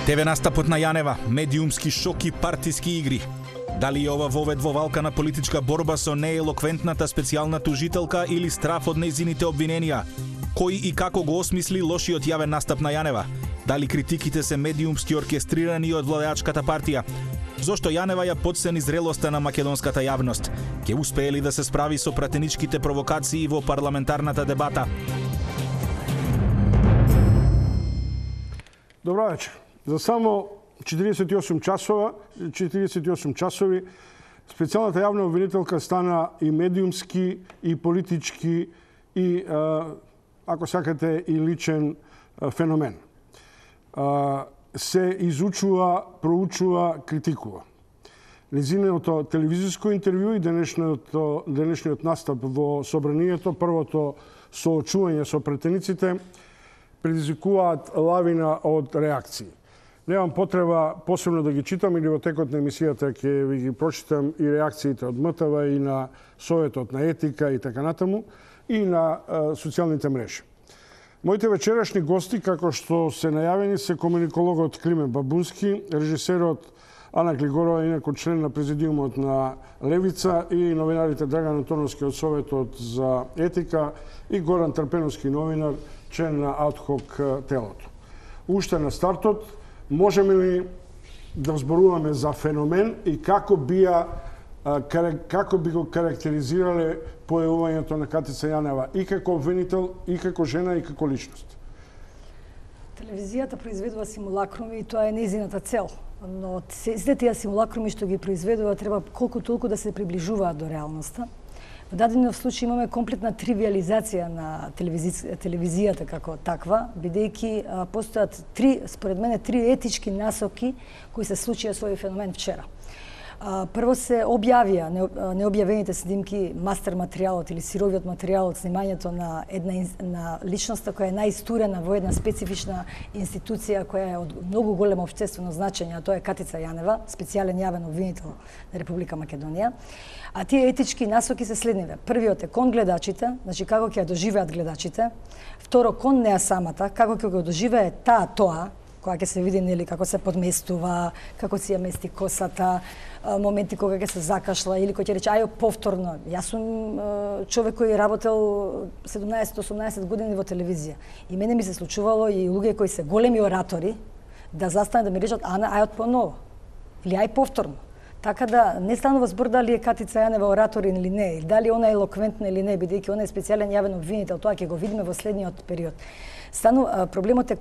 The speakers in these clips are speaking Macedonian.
ТВ настапот на Јанева, медиумски шок и партиски игри. Дали е ова вовед во валка на политичка борба со неелоквентната специјална тужителка или страф од нејзините обвиненија? Кој и како го осмисли лошиот јавен настап на Јанева? Дали критиките се медиумски оркестрирани од владеачката партија? Зошто Јанева ја подцени зрелоста на македонската јавност? Ќе успее ли да се справи со пратеничките провокации во парламентарната дебата? Добро вечер. За само 48 часови специјалната јавна обвинителка стана и медиумски, и политички, и, ако сакате, и личен феномен. Се изучува, проучува, критикува. Незиното телевизиско интервју и денешниот настап во собранието, првото соочување со претениците, предизвикуваат лавина од реакции. Немам потреба посебно да ги читам или во текот на емисијата ќе ви ги прочитам и реакциите од МТВ и на Советот на етика и така натаму и на социјалните мрежи. Моите вечерашни гости, како што се најавени, се комуникологот Климен Бабунски, режисерот Ана Глигорова, инаку член на президиумот на Левица, и новинарите Драган Антоновски од Советот за етика и Горан Трпеновски, новинар, член на адхок телото. Уште на стартот, можеме ли да зборуваме за феномен и како би го карактеризирале појавувањето на Катица Јанева и како обвинител, и како жена, и како личност? Телевизијата произведува симулакруми и тоа е нејзината цел. Но сите тие симулакруми што ги произведува треба колку толку да се приближуваат до реалноста. Во даден случај имаме комплетна тривиализација на телевизијата како таква, бидејќи постојат според мене три етички насоки кои се случија со овој феномен вчера. Прво се објавија необјавените снимки, мастер материјалот или сировиот материјал од снимањето на личноста која е најистурена во една специфична институција која е од многу големо општествено значење, а тоа е Катица Јанева, специјален јавен обвинител на Република Македонија. А тие етички насоки се следниве. Првиот е кон гледачите, значи како ќе ја доживеат гледачите. Второ, кон неа самата, како ќе го доживее тоа, кога ќе се види нели како се подместува, како си ја мести косата, моменти кога ќе се закашла или кој ќе рече ајо повторно. Јас сум човек кој работел 17-18 години во телевизија. И мене ми се случувало и луѓе кои се големи оратори да застане да ми речат Ана ајот поново или ај повторно. Така да не станува збор дали е Катица Јанева оратор или не, или дали она е елоквентна или не, бидејќи она е специјален јавен обвинител, тоа ќе го видиме во следниот период. Проблемот е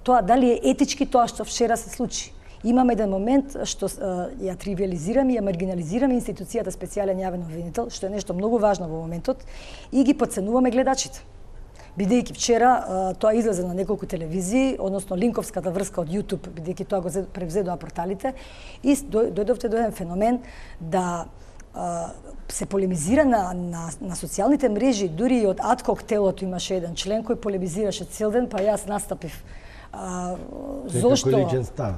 тоа дали е етички тоа што вчера се случи. Имаме еден момент што ја тривиализираме, ја маргинализираме институцијата специјален јавен обвинител, што е нешто многу важно во моментот, и ги подценуваме гледачите. Бидејќи вчера тоа излезе на неколку телевизии, односно линковската врска од YouTube, бидејќи тоа го превзедоа порталите, и дојдовте до еден феномен да се полемизира на социјалните мрежи, дури и од адхок телото имаше еден член кој полемизираше цел ден, па јас настапив. Зошто? Личен став.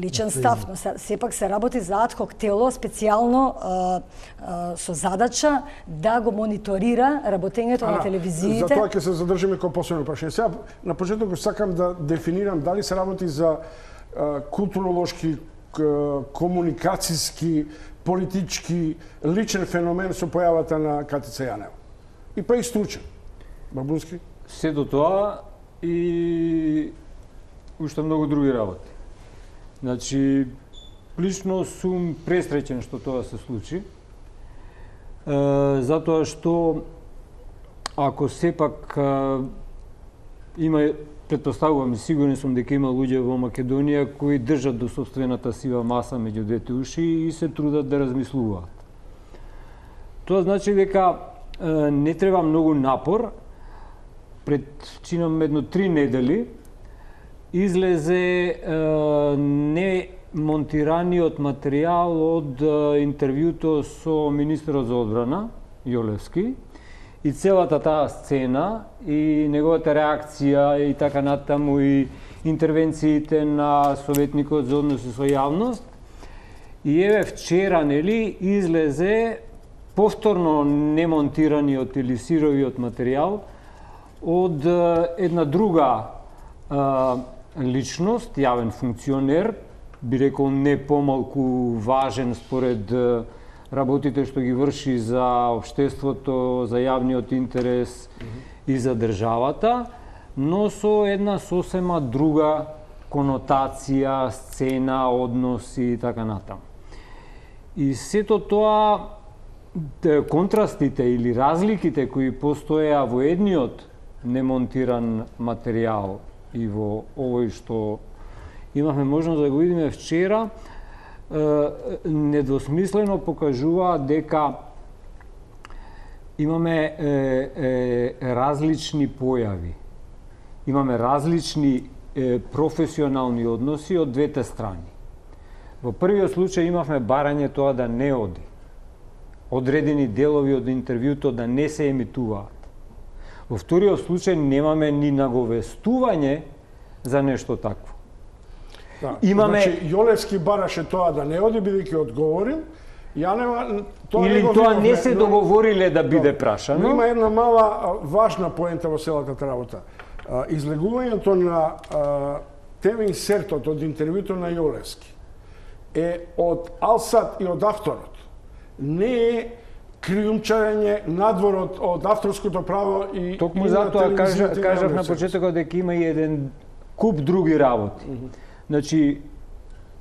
Личен став, но сепак се работи за адхок тело, специјално со задача да го мониторира работењето на телевизиите. За тоа ќе се задржиме како посебно прашање. Сега, на почеток сакам да дефинирам дали се работи за културолошки, комуникацијски, политички, личен феномен со појавата на Катица Јанева. И па и стручен. Бабунски? Се до тоа и уште многу други работи. Значи, лично сум пресреќен што тоа се случи, затоа што ако сепак има, предпоставувам и сигурен сум дека има луѓе во Македонија кои држат до сопствената сива маса меѓу двете уши и се трудат да размислуваат. Тоа значи дека не треба многу напор. Пред чинам едно 3 недели излезе немонтираниот материјал од интервјуто со министерот за одбрана Јолевски и целата таа сцена и неговата реакција и така натаму и интервенциите на советникот за односи со јавност. И еве вчера нели излезе повторно немонтираниот или сировиот материјал од една друга личност, јавен функционер, би рекол не помалку важен според работите што ги врши за општеството, за јавниот интерес и за државата, но со една сосема друга конотација, сцена, односи и така натаму. И сето тоа, контрастите или разликите кои постоеа во едниот немонтиран материјал и во овој што имавме можност да го видиме вчера, недвосмислено покажува дека имаме различни појави. Имаме различни професионални односи од двете страни. Во првиот случај имавме барање тоа да не оди. Одредени делови од интервјуто да не се емитуваат. Во вториот случај немаме ни наговестување за нешто такво. Да, значи, Јолевски бараше тоа да не оди, бидејќи одговорил, Јанева тоа или не тоа не се договориле да биде прашано. Има една мала важна поента во целата работа. Излегувањето на ТВ инсертот од интервјуто на Јолевски е од Алсат и од авторот. Не е криумчарење надвор од авторското право и токму затоа кажав на почетокот дека има и еден куп други работи. Значи,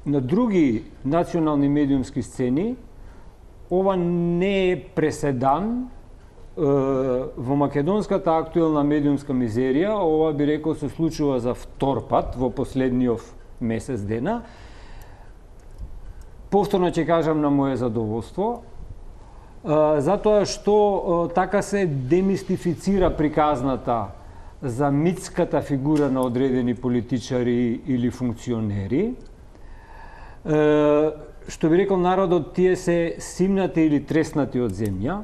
на други национални медиумски сцени, ова не е преседан. Во македонската актуелна медиумска мизерија, ова би рекол се случува за втор пат во последниот месец дена. Повторно ќе кажам на моје задоволство, затоа што така се демистифицира приказната за митската фигура на одредени политичари или функционери. Што би рекол народот, тие се симнати или треснати од земја.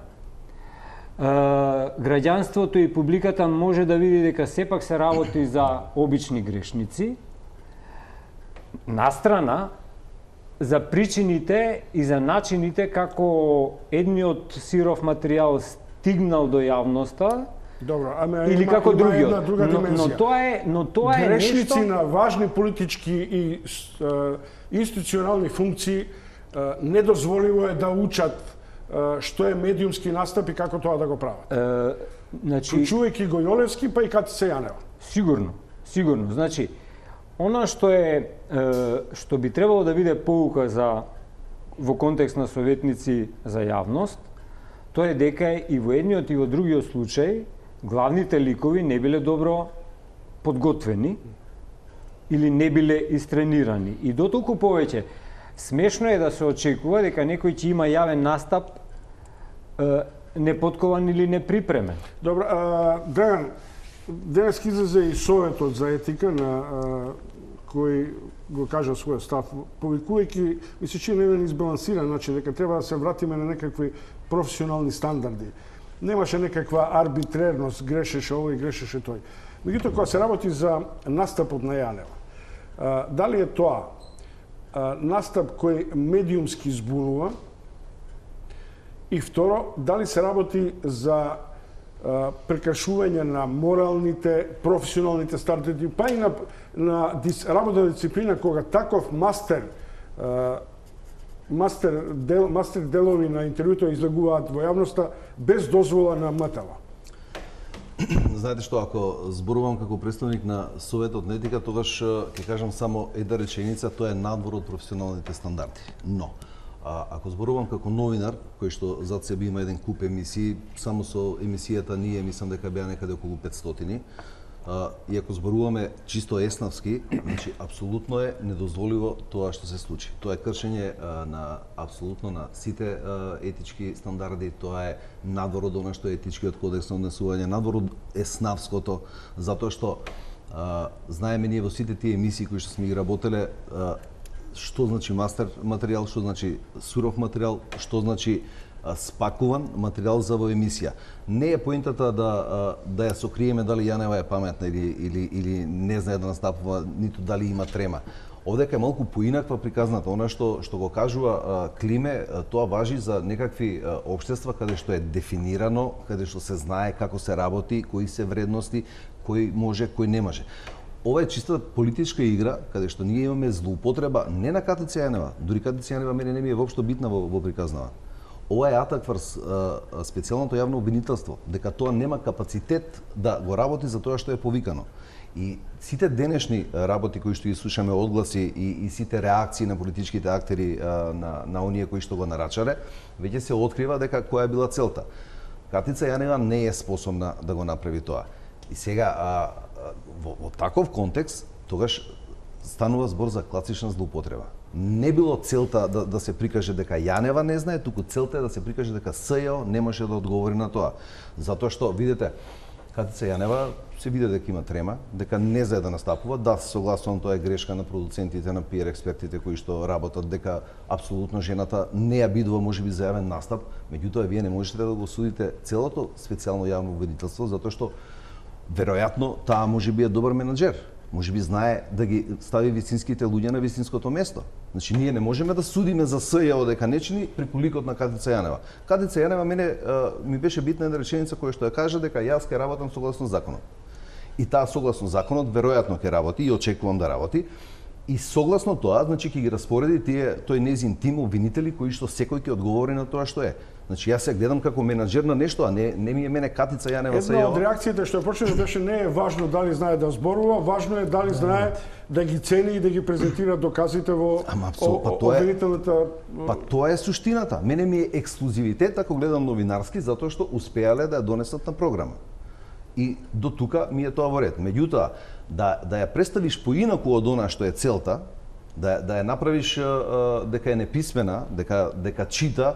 Граѓанството и публиката може да види дека сепак се работи за обични грешници. Настрана, за причините и за начините како едниот сиров материјал стигнал до јавноста. Добро, или како другиот. Но тоа е грешници нешто на важни политички и институционални функции не дозволиво е да учат што е медиумски настап и како тоа да го прават. Значи, вклучувајќи го Јолевски, па и Катица Јанева. Сигурно. Значи, она што би требало да биде поука во контекст на советници за јавност, тоа е дека и во едниот и во другиот случај главните ликови не биле добро подготвени или не биле истренирани. И дотолку повеќе, смешно е да се очекува дека некој ќе има јавен настап неподкован или неприпремен. Добро, Драган, денес излезе и Советот за етика на кој го кажа својот став, повикувајќи, ми се чини еден избалансиран начин, дека треба да се вратиме на некакви професионални стандарди. Немаше некаква арбитрерност, грешеше овој, грешеше тој. Меѓутоа, кога се работи за настапот на Јанева, дали е тоа настап кој медиумски збунува, и второ, дали се работи за прекршување на моралните, професионалните стандарди, па и на работна дисциплина, кога таков мастер делови на интервјуто излегуваат во јавноста без дозвола на МТВ. Знаете што, ако зборувам како представник на Советот на етика, тогаш ќе кажам само една реченица, тоа е надвор од професионалните стандарди. Но, ако зборувам како новинар, кој што зад себе има еден куп емисии, само со емисијата ние мислам дека беа некаде околу 500, и ако зборуваме чисто еснавски, значи апсолутно е недозволиво тоа што се случи. Тоа е кршење апсолутно на сите етички стандарди, тоа е надвор од она што е етичкиот кодекс на однесување, надвор од еснавското, затоа што знаеме ние во сите тие емисии кои што сме ги работеле, што значи мастер материјал, што значи суров материјал, што значи спакуван материјал за во емисија. Не е поентата да ја сокриеме дали Јанева е паметна или не знае да настапува, ниту дали има трема. Овдека е малку поинаква приказната. Она што го кажува Климе, тоа важи за некакви општества каде што е дефинирано, каде што се знае како се работи, кои се вредности, кој може, кој не може. ова е чиста политичка игра, каде што ние имаме злоупотреба не на Катица Јанева, дури Катица Јанева мене не ми е воопшто битна во приказнава. Ова е атак врз специјалното јавно обвинителство, дека тоа нема капацитет да го работи за тоа што е повикано. И сите денешни работи кои што ги слушаме, одгласи и сите реакции на политичките актери на оние кои што го нарачале, веќе се открива дека која е била целта. Катица Јанева не е способна да го направи тоа. И сега во таков контекст тогаш станува збор за класична злоупотреба. Не било целта да се прикаже дека Јанева не знае, туку целта е да се прикаже дека СЈО не може да одговори на тоа. Затоа што видите Катица Јанева се види дека има трема, дека не знае да настапува. Да, согласувам, тоа е грешка на продуцентите, на PR експертите кои што работат, дека апсолутно жената не ја бидува можеби за јавен настап, меѓутоа вие не можете да го судите целото специјално јавно обвинителство затоа што веројатно таа можеби е добар менаџер. Можеби знае да ги стави вистинските луѓе на вистинското место. Значи ние не можеме да судиме за СЈО дека не чини преку ликот на Катица Јанева. Катица Јанева мене ми беше битна една реченица која што ја кажа дека јас ќе работам согласно законот. И таа согласно законот веројатно ќе работи и очекувам да работи. И согласно тоа, значи ќе ги распореди тој нејзин тим обвинители кои што секој ќе одговори на тоа што е. Значи јас се гледам како менаџер на нешто, а не ми е мене Катица Јанева СЈО. Една од реакциите што почна беше не е важно дали знае да зборува, важно е дали знае да ги цени и да ги презентира доказите во обвинителната. Па тоа е суштината. Мене ми е ексклузивитет ако гледам новинарски затоа што успеале да ја донесат на програма. И до тука ми е тоа во ред. Меѓутоа, да ја представиш поинаку од она што е целта, да ја направиш дека е неписмена, дека чита,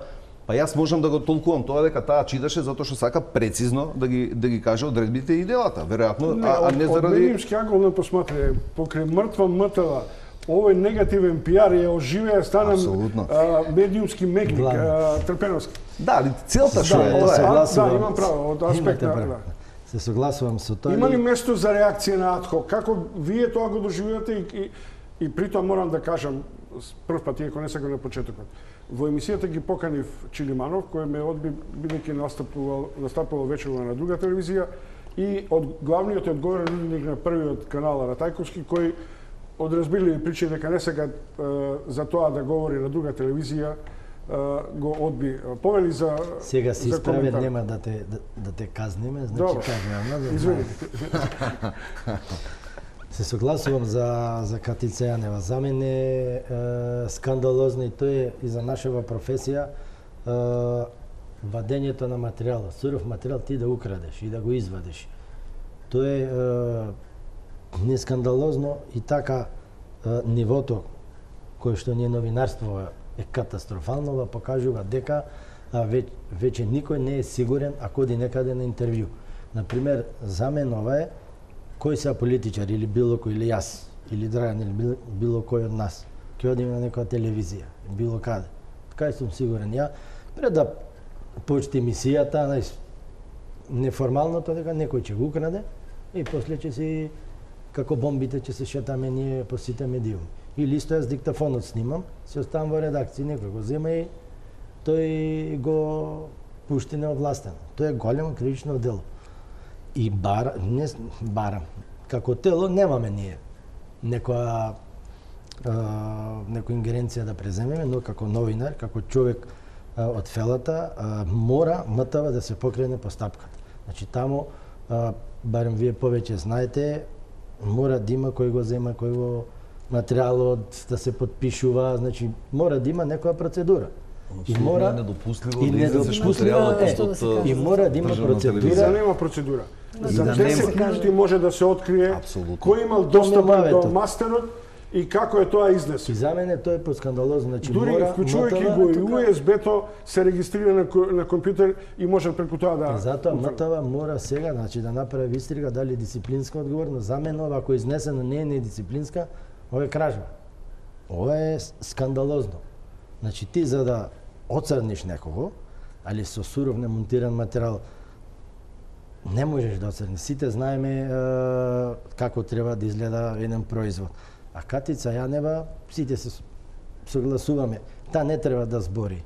па јас можам да го толкувам тоа дека таа читаше затоа што сака прецизно да ги каже одредбите и делата, веројатно, а не заради... Од медиумски ангол не посматрај, покрај мртва МТВ, овој негативен пиар ја оживеа, стана медиумски мекник, Трпеновски. Да, али целта што е? Да, имам право, од аспект на... Се согласувам со тоа. Има ли место за реакција на адхок? Како вие тоа го доживувате и при тоа морам да кажам, прв пат, иако не сега на почетокот. Во емисијата ги поканив Чилиманов, кој ме одби, бидејќи настапувал вечерно на друга телевизија, и од главниот и одговорен уредник на првиот канал Ратајковски, кој од разбирливи причини дека не сега за тоа да говори на друга телевизија, го одби. Повели за сега си исправен, нема да те казниме, значи кажувам. Извини. Се согласувам за Катица Јанева. За мене е скандалозно и тоа е и за нашава професија вадењето на материјал, суров материјал ти да украдеш и да го извадиш. Тоа е не скандалозно и така нивото кој што ние новинарство е катастрофално, покажува дека веќе никој не е сигурен ако оди некаде на интервју. Например, за мен ова е кој се политичар или било кој, или јас, или Драган, или било кој од нас, ќе одиме на некоја телевизија, било каде. Кај сум сигурен ја, пред да почне емисијата, неформалното дека некој ќе го украде и после ќе си, како бомбите, ќе се шетаме ние по сите медиуми. Или исто јас диктафонот снимам, се оставам во редакција, некој го зема и тој го пушти неовластено. Тоа е големо кривично дело. И барам, како тело немаме ние некоја ингеренција да преземеме, но како новинар, како човек од фелата, мора МТВ да се покрене постапката. Значи таму, барем вие повеќе знаете, мора да има кој го зема, кој го материјалот да се подпишува, значи мора да има некоја процедура. И мора недопустливо да излезеш материјалот и мора да има процедура. За нема процедура. За 10 минути може да се открие кој имал достап до мастерот и како е тоа изнесено. И за мене тоа е поскандалозно, значи дури вклучувајќи го и USB-то се регистрира на компјутер и може преку тоа да. Затоа МТВ мора сега, значи да направи истрага дали дисциплинска одговорност. За мене ова ако изнесено не е дисциплинска, ова е кражба. Ова е скандалозно. Значи ти за да оцрниш некого, али со суров немонтиран материјал, не можеш да оцрниш. Сите знаеме како треба да изгледа еден производ. А Катица Јанева, сите се согласуваме, та не треба да збори.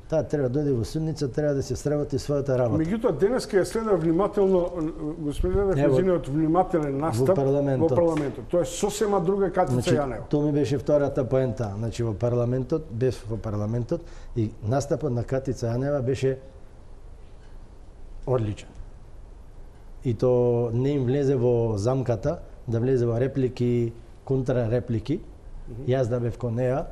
Таа треба да дојде во судница, треба да се сработи својата работа. Меѓутоа денеска ја следа внимателно господин Левчев внимателен настап во парламентот. Тоа е сосема друга Катица Јанева. Тоа ми беше втората поента. Значи во парламентот, без во парламентот и настапот на Катица Јанева беше одличен. И то не им влезе во замката, да влезе во реплики, контрареплики. Јас да бев кон неа,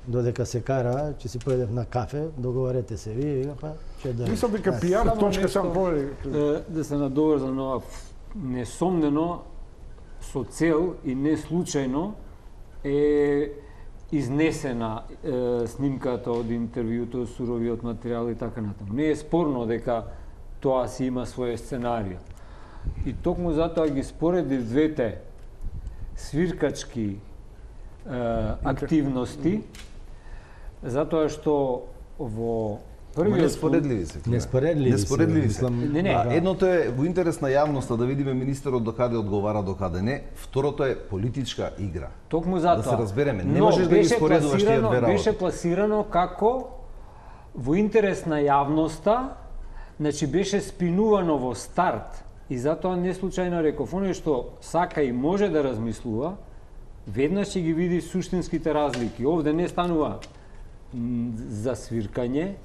додека се кара, ќе си појдев на кафе, договорете се ви, па ќе да. Мислам дека пиар точка сам повели. Да се надоврзам на ова, несомнено со цел и не случајно е изнесена снимката од интервјуто, суровиот материјал и така натаму. Не е спорно дека тоа си има своје сценарио. И токму затоа ги споредив двете свиркачки активности, затоа што во првиот неспоредливи се. Неспоредливи. Едното е во интерес на јавноста да видиме министерот до каде одговара, до каде не. Второто е политичка игра. Токму затоа. Да се разбереме, не можеш да ги споредуваш тие две работи. Беше пласирано како во интерес на јавноста, значи беше спинувано во старт. И затоа не случајно реков, оној што сака и може да размислува, веднаш ќе ги види суштинските разлики. Овде не станува за свиркање,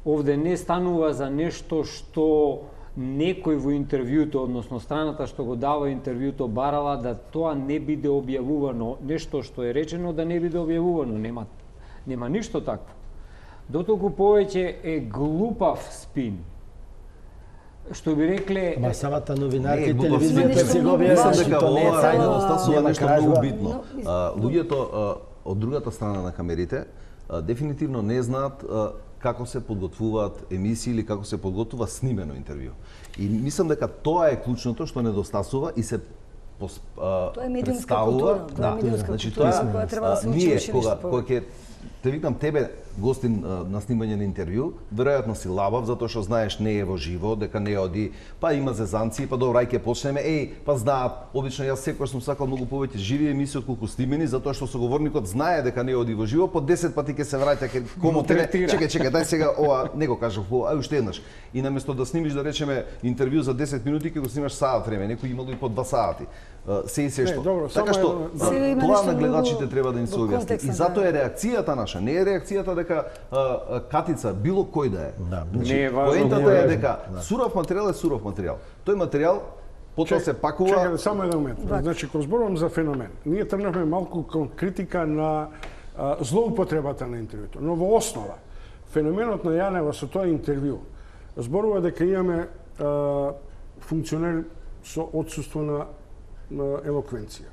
овде не станува за нешто што некој во интервјуто, односно страната што го дава интервјуто, барала да тоа не биде објавувано, нешто што е речено да не биде објавувано. Нема ништо такво. Дотолку повеќе е глупав спин. Што би рекле... Ама самата новинарка и телевизија се го објавува, дека ова рајно стасува нешто многу битно. Но... Луѓето од другата страна на камерите дефинитивно не знаат како се подготвуваат емисии или како се подготвува снимено интервју. И мислам дека тоа е клучното што недостасува и се тоа е медиумска култура. Тоа е медиумска култура која треба да се учи кога ќе те викам тебе гостин на снимање на интервју, веројатно си лабав затоа што знаеш не е во живо, дека не оди, па има зезанци, па добро ај ќе почнеме, па знаат, обично јас секогаш сум сакал многу повеќе живи емисии отколку снимени, затоа што соговорникот знае дека не оди во живо, по 10 пати ќе се враќа ќе кому тебе, чекај, дај сега ова, не го кажав, ај уште еднаш. И наместо да снимиш да речеме интервју за 10 минути, ќе го снимаш саат време, некој имало и по 2 сати. Се и се што. Така што тоа на гледачите треба да им се објасни. И затоа е реакцијата наша, не е реакцијата дека Катица било кој да е. Не е важно. Поентата е дека суров материјал е суров материјал. Тој материјал потоа се пакува. Чекај само еден момент. Значи кога зборувам за феномен, ние тргнавме малку кон критика на злоупотребата на интервјуто, но во основа феноменот на Јанева со тоа интервју зборува дека имаме функционер со отсуство на елоквенција,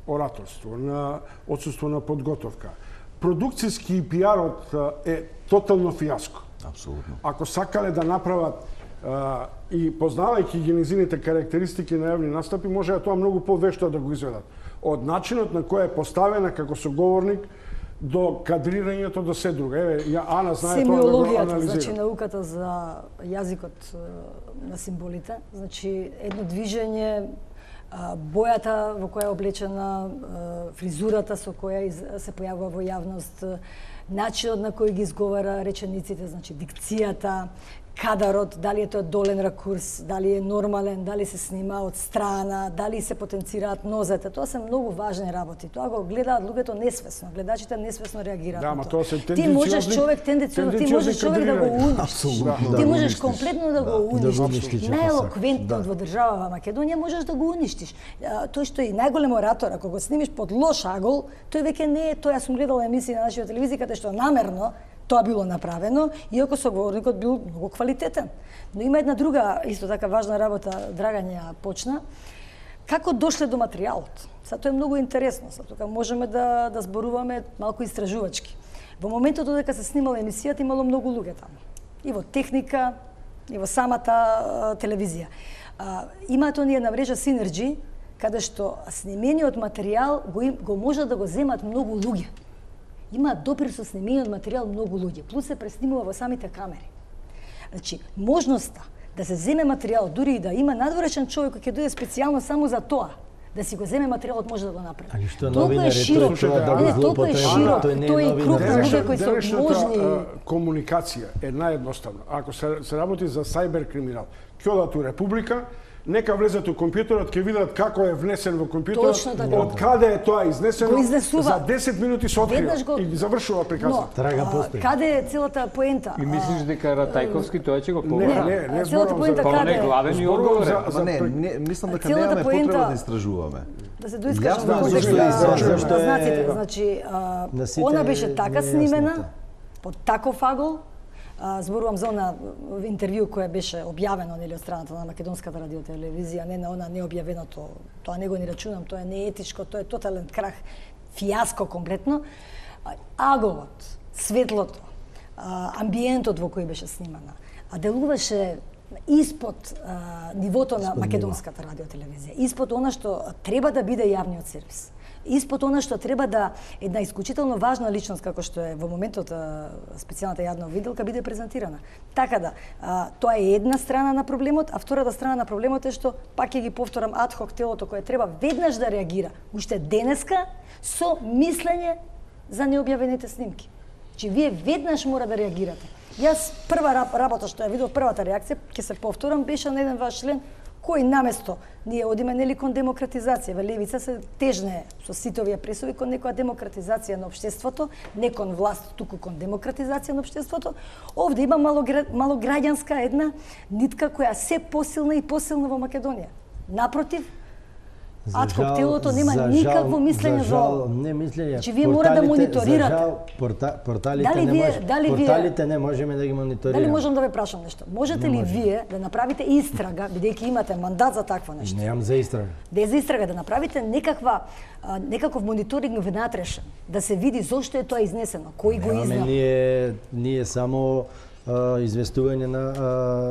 ораторство, на отсуство на подготовка. Продукцијски пиарот е тотално фијаско. Апсолутно. Ако сакале да направат и познавајќи ги низините карактеристики на јавни настапи, може тоа многу повешто да го изведат. Од начинот на кој е поставена како соговорник до кадрирањето до се друго. Еве, Ана знае тоа да го анализира. Значи науката за јазикот на символите, значи едно движење, бојата во која е облечена, фризурата со која се појавува во јавност, начинот на кој ги изговара речениците, значи дикцијата, кадарот, дали е тоа долен ракурс, дали е нормален, дали се снима од страна, дали се потенцираат нозете. Тоа се многу важни работи. Тоа го гледаат луѓето несвесно, гледачите несвесно реагираат на тоа. Ти можеш човек тенденциозно, ти можеш човек да го уништиш. Ти можеш комплетно да го уништиш. Најелоквентно во држава Македонија можеш да го уништиш. Тој што е најголем оратор, ако го снимиш под лош агол, тој веќе не е тоа. Јас сум гледала емисии на нашата телевизија каде што намерно тоа било направено, иако соговорникот бил многу квалитетен. Но има една друга, исто така важна работа, Драган ја почна. Како дошле до материјалот? Сега тоа е многу интересно, сега тука можеме да зборуваме малку истражувачки. Во моментот додека се снимала емисијата, имало многу луѓе таму. И во техника, и во самата телевизија. Имаат оние на мрежа Синерџи, каде што снимениот материјал го може да го земат многу луѓе. Има допир со снимениот материјал многу луѓе, плюс се преснимува во самите камери. Значи, можноста да се земе материјал, дури и да има надворешен човек кој ќе дојде специјално само за тоа, да си го земе материјалот, може да го направи. Али што новинари тоа да го злоупотребуваат, тој не е новинар. Денешната комуникација е наједноставна. Ако се работи за сајбер-криминал, ќе одат у Република, нека влезат у компјутерот, ќе видат како е внесен во компјутерот, од каде е тоа изнесено, за 10 минути се открива и завршува приказната. Трага постои. Каде е целата поента? И мислиш дека Ратајковски тоа ќе го побара? Не, целата поента каде е? Главен и одговорен. Не, мислам дека немаме потреба да истражуваме. Да се доискажам во контекст на знаците. Значи, она беше така снимена, под таков агол. Зборувам за она интервју кое беше објавено нели од страната на Македонската радиотелевизија, не на она необјавеното. Тоа не го ни рачунам, тоа е неетичко, тоа е тотален крах, фијаско конкретно. Аголот, светлото, амбиентот во кој беше снимана, делуваше испод нивото на Македонската радиотелевизија, испод она што треба да биде јавниот сервис. Испод она што треба да една исклучително важна личност како што е во моментот специјалната јадна виделка биде презентирана. Така да, тоа е една страна на проблемот, а втората страна на проблемот е што, пак ќе ги повторам, адхок телото кое треба веднаш да реагира, уште денеска, со мислење за необјавените снимки. Че вие веднаш мора да реагирате. Јас прва работа што ја видов, првата реакција, ќе се повторам, беше на еден ваш член кој наместо ние одиме нели кон демократизација, во левица се тежне со сите овие пресови кон некоја демократизација на општеството, не кон власт, туку кон демократизација на општеството. Овде има малограѓанска една нитка која се посилна и посилна во Македонија. Напротив, адхок телото нема никакво мислење за ова. Не мислење. Че вие мора да мониторирате. Порталите не можеме да ги мониторираме. Дали можам да ве прашам нешто? Можете ли вие да направите истрага, бидејќи имате мандат за такво нешто? Немам за истрага. Да за истрага, да направите некаков мониторинг внатрешен, да се види зошто е тоа изнесено, кој го изнал. Ние само известување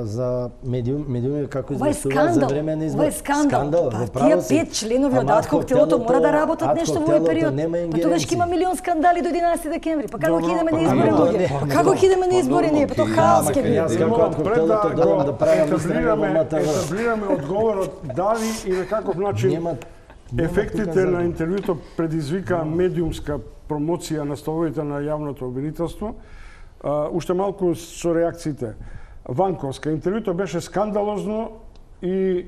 за медиуми како известуваат за време на избор. Ова е скандал. Тие 5 членови од адхок телото мора да работат нешто во овој период. Па тогаш ќе има милион скандали до 11 декември. Па како ќе идеме на избори луѓе? Па како ќе идеме на избори ние? Па тоа хаос ќе биде. Пред да етаблираме одговорот дали и на каков начин ефектите на интервјуто предизвика медиумска промоција на столовите на јавното обвинителство. Уште малку со реакциите. Ванковска. Интервјуто беше скандалозно и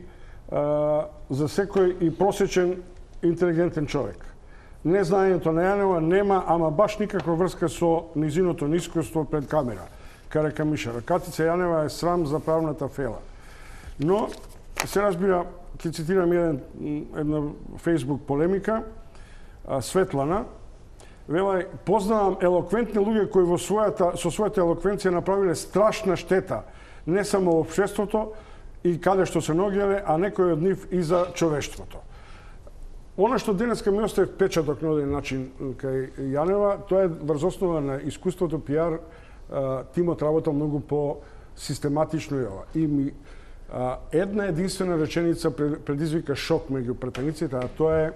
за секој и просечен интелигентен човек. Незнаењето на Јанева нема ама баш никаква врска со низиното искуство пред камера. Каракамишара. Катица Јанева е срам за правната фела. Но, се разбира, ќе цитирам една Facebook полемика, Светлана, вела, познавам елоквентни луѓе кои со својата елоквенција направиле страшна штета, не само во општеството и каде што се ногеле, а некој од нив и за човештвото. Она што денеска ми остави впечаток на оден начин кај Јанева, тоа е врз основа на искуството пиар, тимот работа многу по-систематично и ова. И една единствена реченица предизвика шок меѓу пратениците, а тоа е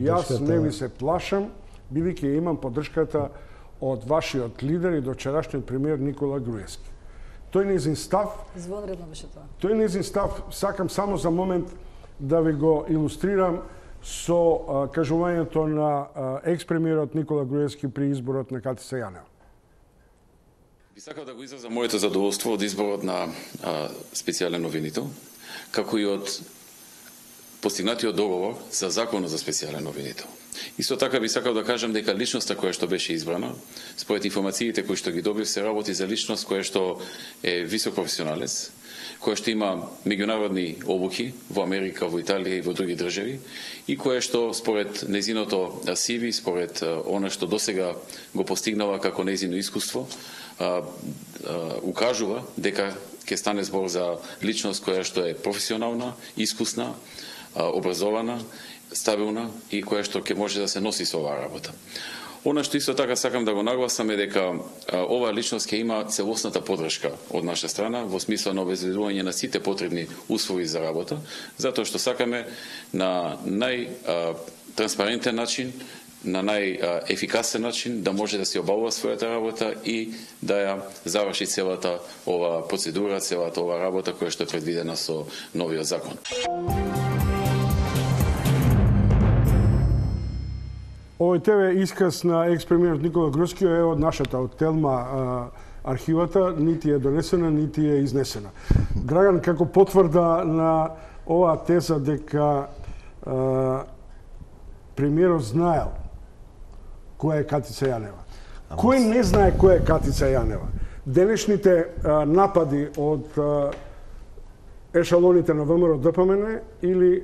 јас не ви се плашам, бидејќи имам поддршката од вашиот лидер и дочерашниот премиер Никола Груевски. Тој нејзин став... Извонредно беше тоа. Тој нејзин став, сакам само за момент да ви го илустрирам со кажувањето на екс-премиерот Никола Груевски при изборот на Катица Јанева. Би сакал да го изразам моето задоволство од изборот на специјален новинител, како и од постигнатиот договор за законот за специјален новинител. Исто така би сакал да кажам дека личноста која што беше избрана, според информациите кои што ги добив, се работи за личност која што е висок професионалец, која што има меѓународни обуки во Америка, во Италија и во други држави и која што според нејзиното CV, според она што досега го постигнала како нејзино искуство, укажува дека ќе стане збор за личност која што е професионална, искусна, образована, стабилна и која што ќе може да се носи со оваа работа. Она што исто така сакам да го нагласам е дека оваа личност ќе има целосната поддршка од наша страна во смисла на обезбедување на сите потребни услови за работа, затоа што сакаме на најтранспарентен начин, на најефикасен начин да може да се обавува својата работа и да ја заврши целата ова процедура, целата ова работа која што е предвидена со новиот закон. Овој ТВ исказ на екс-премиерот Никола Гроцки е од нашата, од Телма архивата, нити е донесена, нити е изнесена. Драган, како потврда на оваа теза дека премиерот знаел која е Катица Јанева. Кој не знае која е Катица Јанева? Денешните напади од ешалоните на ВМРО ДПМН или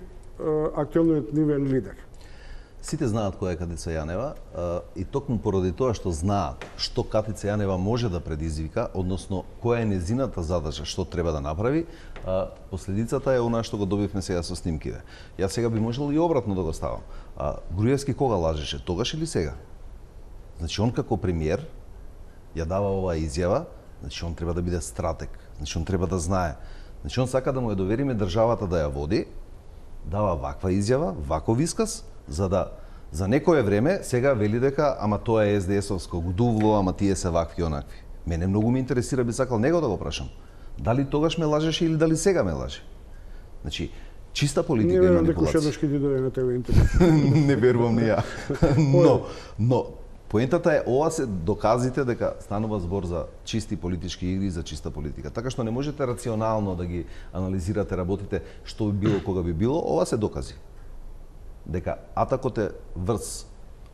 актуелниот нивен лидер? Сите знаат која е Катица Јанева и токму поради тоа што знаат што Катица Јанева може да предизвика, односно која е незината задача, што треба да направи, последицата е она што го добивме сега со снимките. Јас сега би можел и обратно да го ставам. Груевски кога лажеше, тогаш или сега? Значи, он како премиер ја дава оваа изјава, значи он треба да биде стратег, значи он треба да знае. Значи он сака да му ја довериме државата да ја води, дава ваква изјава, ваков исказ, за да за некое време сега вели дека ама тоа е СДС-овско гдувло, ама тие се вакви онакви. Мене многу ме интересира, би сакал него да го прашам. Дали тогаш ме лажеше или дали сега ме лаже? Значи, чиста политика и манипулација. Не верувам дека ушеднаш ќе ти дојде на ТВ интервју. Не верувам ни ја. Но поентата е, ова се доказите дека станува збор за чисти политички игри, за чиста политика. Така што не можете рационално да ги анализирате, работите што би било, кога би било, ова се докази. Дека атакот е врз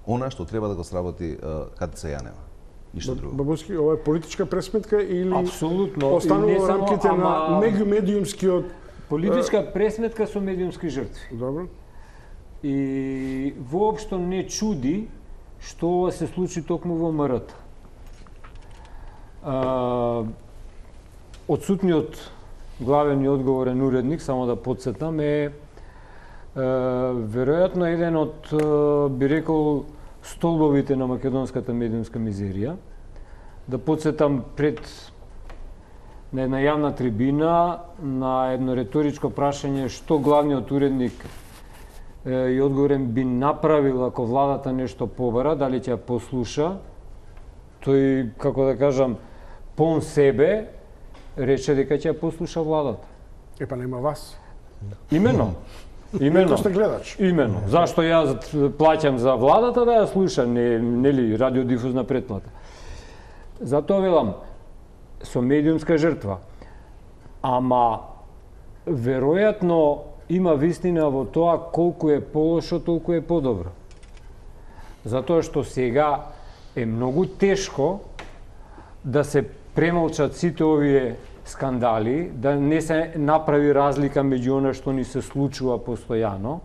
она што треба да го сработи Катица Јанева. Ништо друго. Бабуски, ова е политичка пресметка или апсолутно останува во рамките на меѓумедиумскиот политичка пресметка со медиумски жртви. Добро. И воопшто не чуди што ова се случи токму во МРТ. Отсутниот главен и одговорен уредник, само да подсетам, е веројатно еден од, би рекол, столбовите на македонската медиумска мизерија. Да подсетам пред на една јавна трибина, на едно реторичко прашање што главниот уредник и одговорен би направил ако владата нешто побара, дали ќе ја послуша. Тој, како да кажам, пон себе рече дека ќе ја послуша владата. Епа нема вас. Имено. Имено. Сте гледач. Имено. Зашто јас плаќам за владата да ја слуша, нели радиодифузна претплата. Затоа велам, со медиумска жртва. Ама веројатно има вистина во тоа колку е полошо, толку е подобро. Затоа што сега е многу тешко да се премолчат сите овие скандали, да не се направи разлика меѓу она што ни се случува постојано.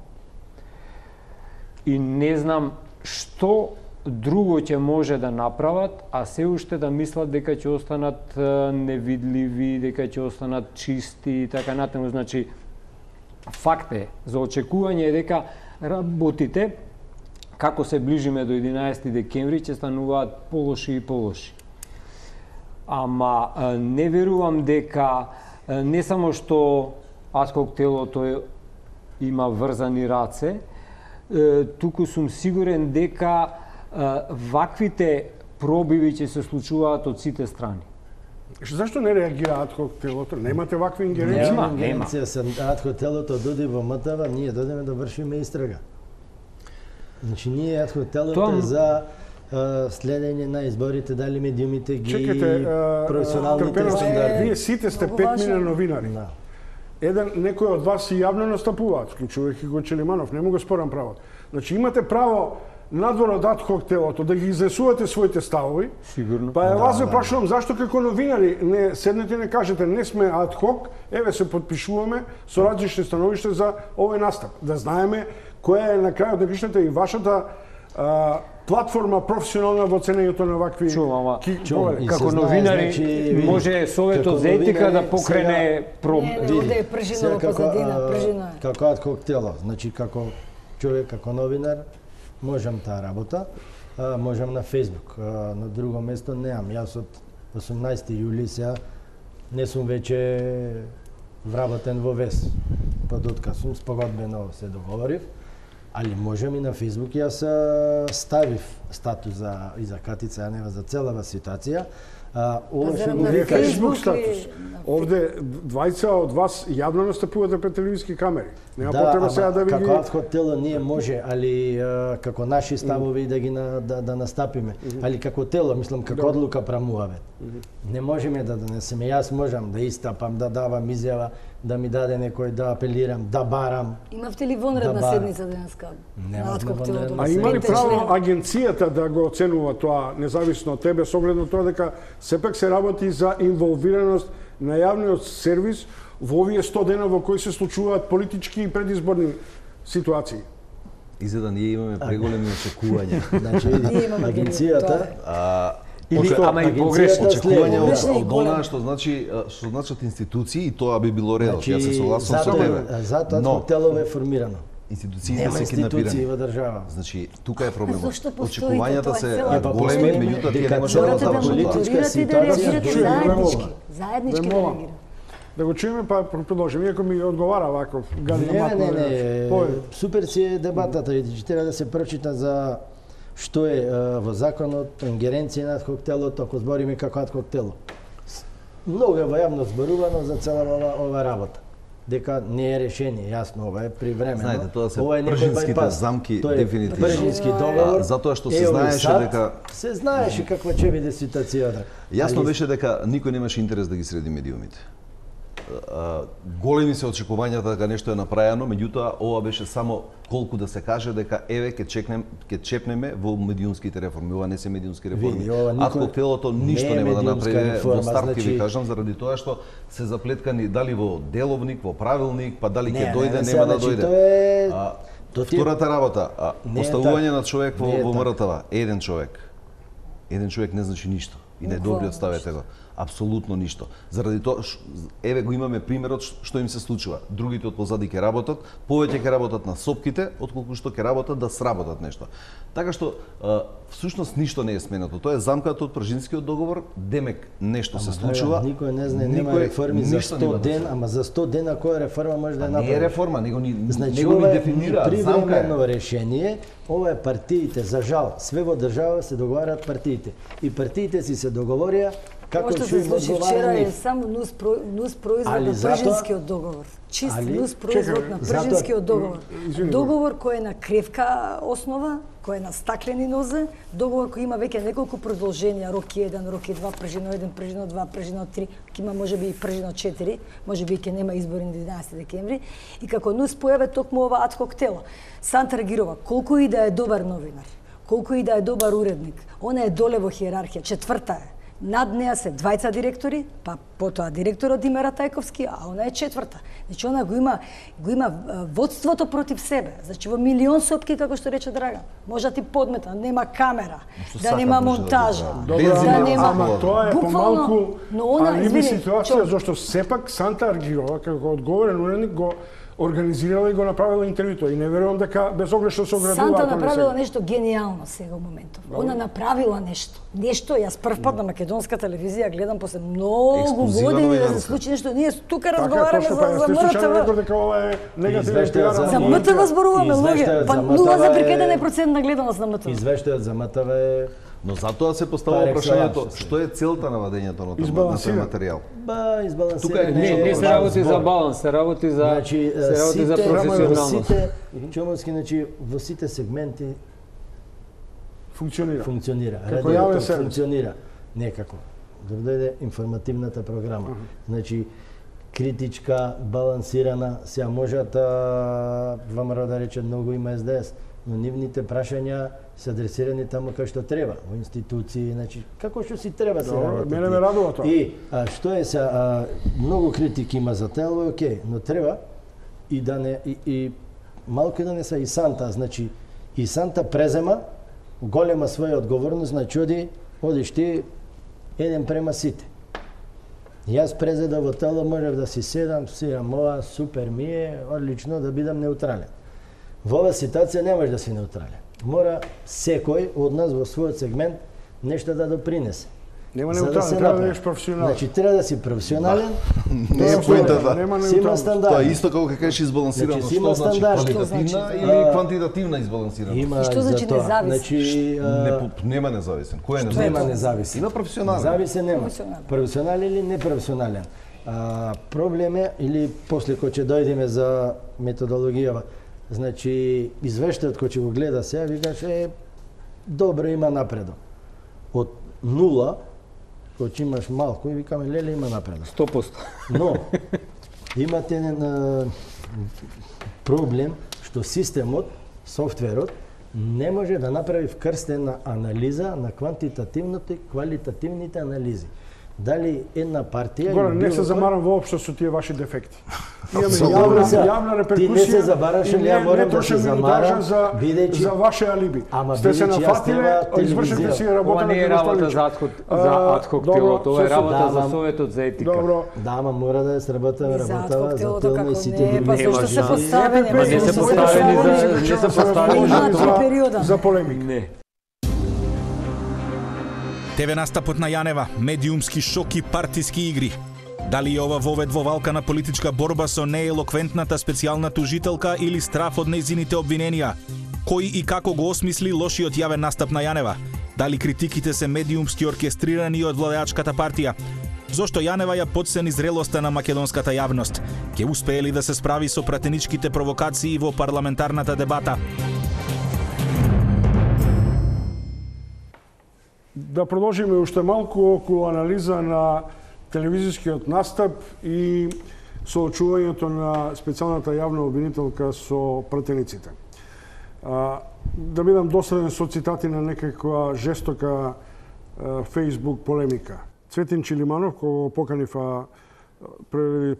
И не знам што друго ќе може да направат, а се уште да мислат дека ќе останат невидливи, дека ќе останат чисти и така натаму. Значи, факт е, за очекување е дека работите, како се ближиме до 11 декември, ќе стануваат полоши и полоши. Ама не верувам дека не само што Адхок телото има врзани раце, туку сум сигурен дека ваквите пробиви ќе се случуваат од сите страни. Зашто не реагира Адхок телото? Немате вакви ингеренции? Нема ингеренција со Адхок телото доди во МТВ, ние додеме да вршиме истрага. Значи ние Адхок телото за следење на изборите, дали медиумите ги професионалните стандарди. Вие сите сте 5 милиона новинари. Некој од вас и јавно настапуваат, вклучувајќи го Челиманов, не му го спорам правот. Значи имате право надвор од Адхок телото да ги изнесувате своите ставови. Сигурно. Па вас ве прашувам зашто како новинари не седнете и не кажете не сме Адхок, еве се подпишуваме со различни становишта за овој настап, да знаеме која е на крајот на кришната и вашата платформа професионална во ценењето на вакви... Чувам, како новинари може Советот за етика да покрене Овде е пржина во позадина, пржина е. Како Адхок тело, значи како човек, како новинар, можам таа работа, можам на Facebook, на друго место неам. Јас од 18 јули сега не сум веќе вработен во ВЕС. Под отказ спогодбено се договорив, али можам и на Facebook. Јас ставив статус и за Катица Јанева за целава ситуација. Ова што го на вика Facebook Facebook статус. Овде двајца од вас јавно настапувате пред телевизиски камери. Нема потреба сега да ви како адхок тело ние може, али како наши ставови да ги да настапиме, али како тело, мислам како одлука прамуваме. Не можеме да донесеме. Јас можам да истапам, да давам изјава, да ми даде некој, да апелирам, да барам. Имавте ли вонредна барам. седница денеска? Немавме вонредна А има ли Петте право члена? агенцијата да го оценува тоа независно од тебе со оглед на тоа дека сепак се работи за инволвираност на јавниот сервис во овие 100 дена во кои се случуваат политички и предизборни ситуации? Изгледа ние имаме преголеми очекувања. Значи, Ние имаме агенцијата Или ама и погрешно Очекувања Погрешно и од големо. она што значат институции и тоа би било редот. Значи, Јас се согласувам со тебе. затоа Но тело е формирано. институциите Нема се институции киднапирани. во држава. Значи, тука е проблемот. Зошто постоите? Очекувањата Тоа е се цела големи, проблема. меѓутоа тие Дека не може да Морате да завршат тоа. политичка мониторирате и да ситуација реагирате чујме заеднички. врвола. Заеднички да Врвола. реагирате. Да го чуеме па продолжиме, иако ми одговара ваков газда Не. Супер си е дебатата и че треба да се прочита за што е во законот ингеренција на адхок телото, ако збориме како адхок тело. Многу е во јавно зборувано за цела ова работа. Дека не е решение, јасно, ова е привремено. Знаете, тоа се Ова е некој пржинските bypass. замки, Тоа е дефинитивно. Пржински договор. Затоа што се Ео, знаеше сад, дека се знаеше каква ќе биде ситуацијата. Јасно Али беше дека никој немаше интерес да ги среди медиумите. Големи се очекувањата дека нешто е направено, меѓутоа ова беше само колку да се каже дека еве ќе чепнеме во медиумските реформи. Ова не се медиумски реформи. Види, ова никој Адхок телото не ништо е нема да медиумска направи реформа, во старт, ќе значи- ви кажам, заради тоа што се заплеткани дали во деловник, во правилник, па дали ќе Не, дојде, не, нема да значи, дојде. тоа е- тоа ти е- Втората работа, Не е поставување така. на човек Не е во така. МРТВ, еден човек. Еден човек не значи ништо. И не добри оставете го. Апсолутно ништо. Заради тоа, еве го имаме примерот што им се случува. Другите од позади ќе работат, повеќе ќе работат на сопките, отколку што ќе работат да сработат нешто. Така што, всушност ништо не е сменато. Тоа е замката од Пржинскиот договор, демек нешто се случува. Никој не знае, нема никој реформи за ништо 100 нема да ден, се- ама за 100 дена која реформа може да Не е направи? реформа, него ни Значи, него ни ова е дефинира, замка е. привремено решение, ова е партиите, за жал, све во држава се договарат партиите. И партиите си се договорија како Ова што ќе се им случи одговара вчера е нив. само нус производ Али на затоа- Пржинскиот договор. Чист Али- нус производ Чекај, на затоа- Пржинскиот договор. Извини, Договор кој е на кревка основа, кој е на стаклени нозе, договор кој има веќе неколку продолженија, рок 1, рок 2, пржино 1, пржино 2, пржино 3, ќе има можеби и пржино 4, можеби ќе нема избори на 11 декември, и како нус појаве токму ова адхок тело. Санта Рагирова, колку и да е добар новинар, колку и да е добар уредник, она е доле во хиерархија, четврта е. Над неа се двајца директори, па потоа директорот Димера Тајковски, а она е четврта. Значи она го има водството против себе. Значи во милион сопки, како што рече Драган. Може да ти подмета, нема камера, Што да сака нема може да монтажа, направи. Без да има нема... Ама тоа е Буквално, помалку но она, алиби извини, ситуација, Чо- зашто сепак Санта Аргирова, како одговорен уредник, го организирала и го направила интервјуто. И не верувам дека безогрешно се оградува. Санта ако не направила се- нешто гениално сега моментов. Она направила нешто. Нешто, јас прв пат на македонска телевизија гледам после многу Ексклузива години да се новинарска. случи нешто. Ние тука Така, разговараме точно, за па, јас ти случајно реков МРТВ. дека ова е негативна Извештајот пиара. за За на МТВ зборуваме луѓе. Извештајот Па за 0,1% на гледаност на МТВ. Извештајот за МТВ е Но затоа се поставува Par прашањето, excellence. што е целта на вадењето на тој Избалансиран. материјал? избалансиран. Тука е Не се работи за баланс, се работи за Значи, се работи за сите, професионалност. сите, Чомовски, значи, во сите сегменти функционира. функционира. Како Радиото јавен сервис. функционира. Некако. Да дојде информативната програма. Значи, критичка, балансирана, сега можат ВМРО да речат многу има СДС, но нивните прашања се адресирани таму кај што треба, во институции, значи како што си треба се Добро, работи. мене ме радува тоа. И што е се многу критики има за тело, окей, но треба и да не и малку да не се и Санта, значи и Санта презема голема своја одговорност, значи одиш ти еден према сите. Јас презеда во тело можев да си седам, ова супер ми е, одлично да бидам неутрален. Во оваа ситуација не можеш да си неутрален. Мора секој од нас во својот сегмент нешто да допринесе. Нема неутрален, треба да бидеш професионален. Значи треба да си професионален. Не е поентата. Си има стандард. Тоа е исто како кажеш избалансирано. Значи, има стандард. Квалитативна или квантитативна избалансирана? Има што значи за тоа. независен? Значи Нема независен. Кој е независен? нема независен. Има професионален. Независен нема. Професионален или непрофесионален. Проблем е, или после кој ќе дојдеме за методологијава, значи извештајот кој ќе го гледа сега, викаше добро, има напредок. Од нула, кој ќе имаш малку, и викаме леле, има напредок. 100%. Но имате проблем што системот, софтверот не може да направи вкрстена анализа на квантитативните и квалитативните анализи. Дали една партија... Горе, не се замарам воопшто со тие ваши дефекти. Имаме Ти јавна не реперкусија. се забараш, ја морам да се замарам, бидејќи... за ваше алиби. Ама Сте се бидејќи јас нафатиле, треба извршите си работа Ова на не е работа за адхок телото, ова е работа за Советот за етика. Добро. Да, ама мора да се работава За за телно и сите не, па други. зашто се поставени? Ама не се поставени за полемика. Не. ТВ настапот на Јанева, медиумски шок и партиски игри. Дали ова вовед во валка на политичка борба со неелоквентната специјална тужителка или страф од нејзините обвиненија? Кој и како го осмисли лошиот јавен настап на Јанева? Дали критиките се медиумски оркестрирани од владеачката партија? Зошто Јанева ја подцени зрелоста на македонската јавност? Ќе успее ли да се справи со пратеничките провокации во парламентарната дебата? Да продолжиме уште малку околу анализа на телевизискиот настап и соочувањето на специјалната јавна обвинителка со пратениците. Да бидам доследен со цитати на некаква жестока Facebook полемика. Цветин Чилиманов, кога го поканив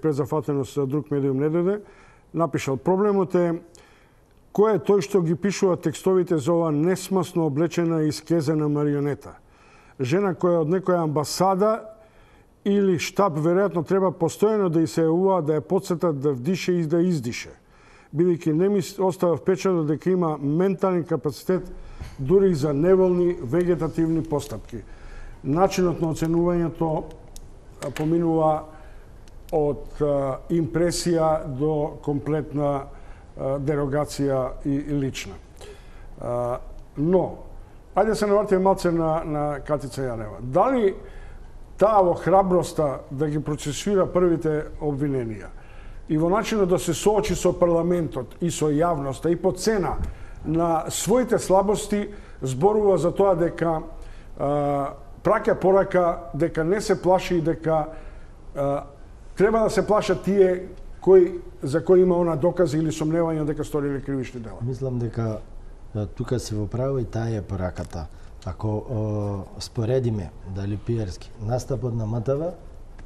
презафатено со друг медиум не дојде, напишал: проблемот е кој е тој што ги пишува текстовите за ова несмасно облечена и искезена марионета. Жена која од некоја амбасада или штаб веројатно треба постојано да и се јавува, да ја потсетат да вдише и да издише, бидејќи не ми остава впечаток дека има ментален капацитет дури и за неволни вегетативни постапки. Начинот на оценувањето поминува од импресија до комплетна дерогација и лична. Но, ајде се навратиме малце на Катица Јанева. Дали таа во храброста да ги процесуира првите обвиненија и во начинот да се соочи со парламентот и со јавноста и по цена на своите слабости зборува за тоа дека праќа порака дека не се плаши и дека треба да се плашат тие за кои има она докази или сомневања дека сториле кривични дела. Мислам дека тука се во право и таа е пораката. Ако споредиме, дали пиерски, настапот на МТВ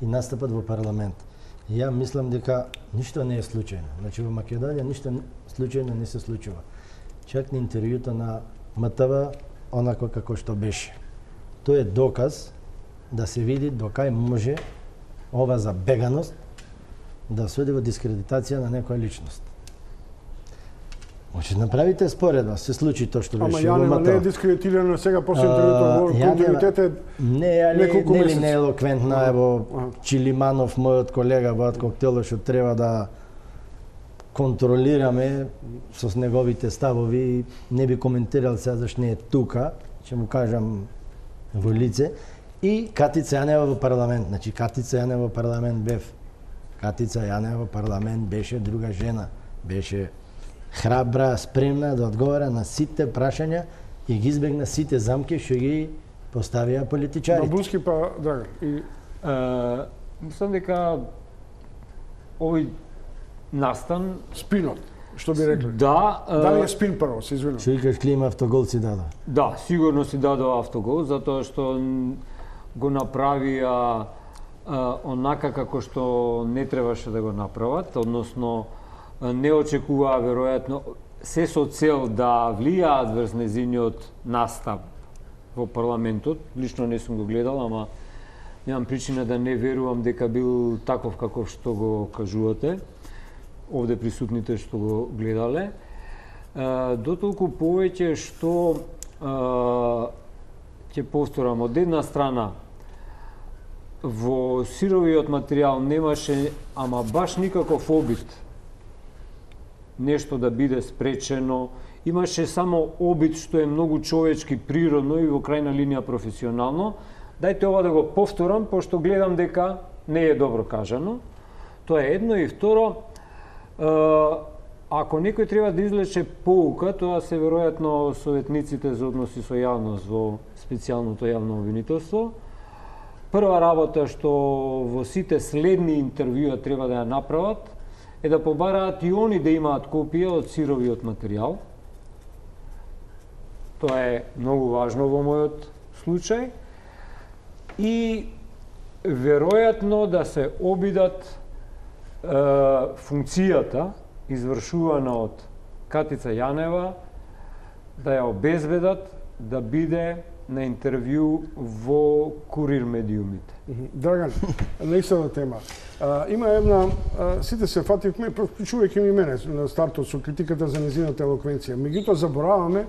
и настапот во парламент, ја мислам дека ништо не е случајно. Значи во Македонија ништо случајно не се случува. Чак на интервјуто на МТВ, онако како што беше. Тоа е доказ да се види докај може ова забеганост да се оди во дискредитација на некоја личност. Може направите споредба, се случи тоа што беше во МТВ. Ама Јанева не е дискредитирана сега после интервјуто, континуитет е неколку месеци. Не е елоквентна, ево Чилиманов, мојот колега во Коктело, што треба да контролираме со неговите ставови, не би коментирал сега зашто не е тука, ќе му кажам во лице, и Катица Јанева во парламент. Значи Катица Јанева во парламент бев. Катица Јанева во парламент беше друга жена, беше храбра, спремна да одговара на сите прашања и ги избегна сите замки што ги поставија политичарите. Бабуски па Драган. Мислам дека овој настан спинот, што би рекле. Да. Дали е спин прво, се извинувам. Што викаш Клима автогол си дадо? Да, сигурно си дадо автогол, затоа што го направија онака како што не требаше да го направат, односно не очекуваа веројатно се со цел да влијаат врз нејзиниот настап во парламентот. Лично не сум го гледал, ама немам причина да не верувам дека бил таков каков што го кажувате, овде присутните што го гледале. Дотолку повеќе што ќе повторам, од една страна во сировиот материјал немаше ама баш никаков обид нешто да биде спречено, имаше само обид што е многу човечки, природно и во крајна линија професионално. Дајте ова да го повторам, пошто гледам дека не е добро кажано. Тоа е едно, и второ, ако некој треба да извлече поука, тоа се веројатно советниците за односи со јавност во специјалното јавно обвинителство. Прва работа што во сите следни интервјуа треба да ја направат е да побараат и они да имаат копија од сировиот материјал. Тоа е многу важно во мојот случај. И веројатно да се обидат функцијата извршувана од Катица Јанева да ја обезбедат да биде на интервју во Курир медиумите. Драган, на истата тема. Има една, сите се фативме, вклучувајќи ми мене на стартот со критиката за незината елоквенција. Меѓутоа забораваме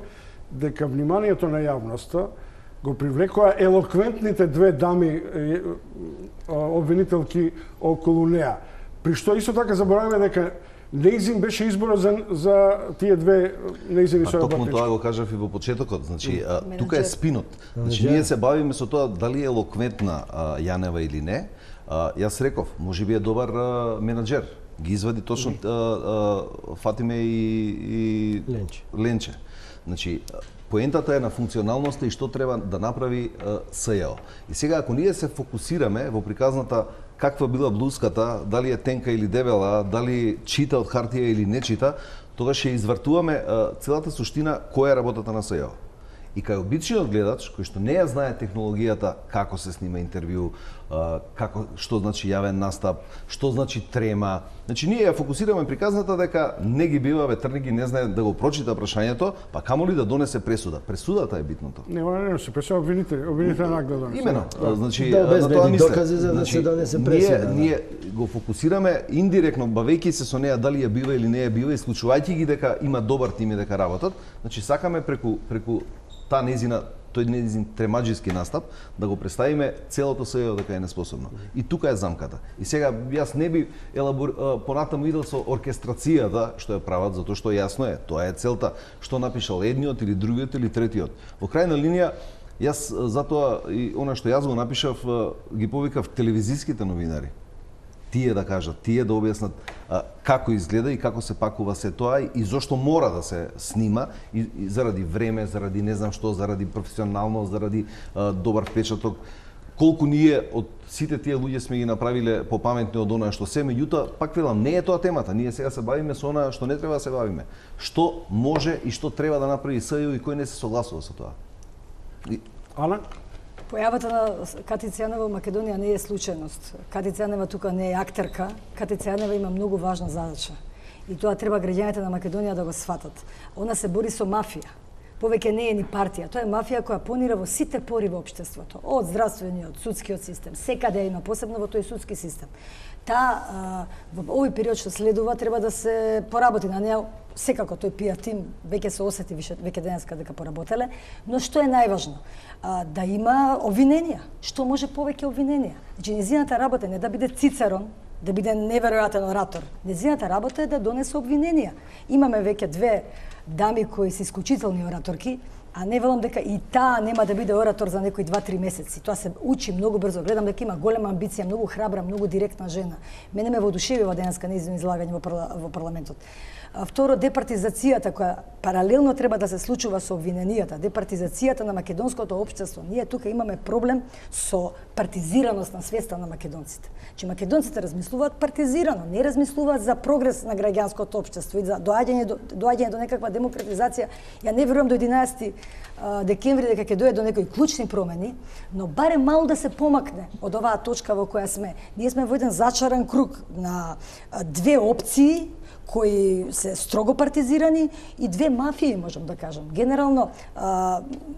дека вниманието на јавноста го привлекоа елоквентните две дами обвинителки околу неа. При што исто така забораваме дека неизин беше изборот за тие две неизини соработнички. Токму тоа го кажав и во почетокот. Значи, тука е спинот. Значи, ние се бавиме со тоа дали е елоквентна Јанева или не. Јас реков, можеби е добар менаџер. Ги извади точно Фатиме и Ленче. Значи, поентата е на функционалноста и што треба да направи СЈО. И сега, ако ние се фокусираме во приказната каква била блуската, дали е тенка или дебела, дали чита од хартија или не чита, тогаш ќе извртуваме целата суштина која е работата на СЈО. И кај обичниот гледач, кој што не ја знае технологијата како се снима интервју, што значи јавен настап, што значи трема. Значи ние ја фокусираме приказната дека не ги бива ветрниги, не знае да го прочита прашањето, па камоли да донесе пресуда. Пресудата е битното. Не, она не се пресуда, обвинителен акт да донесе. Имено. Значи да обезбеди докази за да се донесе пресуда. Ние го фокусираме индиректно, бавејќи се со неа дали ја бива или не ја бива, исклучувајќи ги дека има добар тим и дека работат. Значи сакаме преку тој незин тремаџиски настап, да го представиме целото СЈО дека е неспособно. И тука е замката. И сега јас не би понатаму идел со оркестрацијата што ја прават, затоа што јасно е, тоа е целта, што напишал едниот или другиот или третиот. Во крајна линија, јас затоа и она што јас го напишав, ги повикав телевизиските новинари. Тие да кажат, тие да објаснат како изгледа и како се пакува се тоа и зошто мора да се снима и заради време, заради не знам што, заради професионалност, заради добар впечаток. Колку ние од сите тие луѓе сме ги направиле попаметни од она што се, меѓутоа пак велам, не е тоа темата. Ние сега се бавиме со она што не треба да се бавиме. Што може и што треба да направи СЈО и кој не се согласува со тоа. Ана? Појавата на Катица Јанева во Македонија не е случајност. Катица Јанева тука не е актерка. Катица Јанева има многу важна задача. И тоа треба граѓаните на Македонија да го сфатат. Она се бори со мафија. Повеќе не е ни партија. Тоа е мафија која понира во сите пори во општеството. Од здравствениот, судскиот систем, секаде има, посебно во тој судски систем. Во овој период што следува треба да се поработи на неа. Секако тој PR тим веќе се осети веќе денеска дека поработеле, но што е најважно? Да има обвиненија. Што може повеќе обвиненија? Значи, незината работа не да биде Цицерон, да биде неверојатен оратор. Незината работа е да донесе обвиненија. Имаме веќе две дами кои се исклучителни ораторки, а не велам дека и таа нема да биде оратор за некои 2-3 месеци. Тоа се учи многу брзо. Гледам дека има голема амбиција, многу храбра, многу директна жена. Мене ме воодушевива денеска нејзино излагање во парламентот. Второ, департизацијата која паралелно треба да се случува со обвиненијата, департизацијата на македонското општество. Ние тука имаме проблем со партизираност на свеста на македонците. Че македонците размислуваат партизирано, не размислуваат за прогрес на граѓанското општество и за доаѓање до некаква демократизација. Ја не верувам до 11 декември дека ќе дојде до некои клучни промени, но барем мало да се помакне од оваа точка во која сме. Ние сме во еден зачаран круг на две опции кои се строго партизирани и две мафии, можам да кажам. Генерално,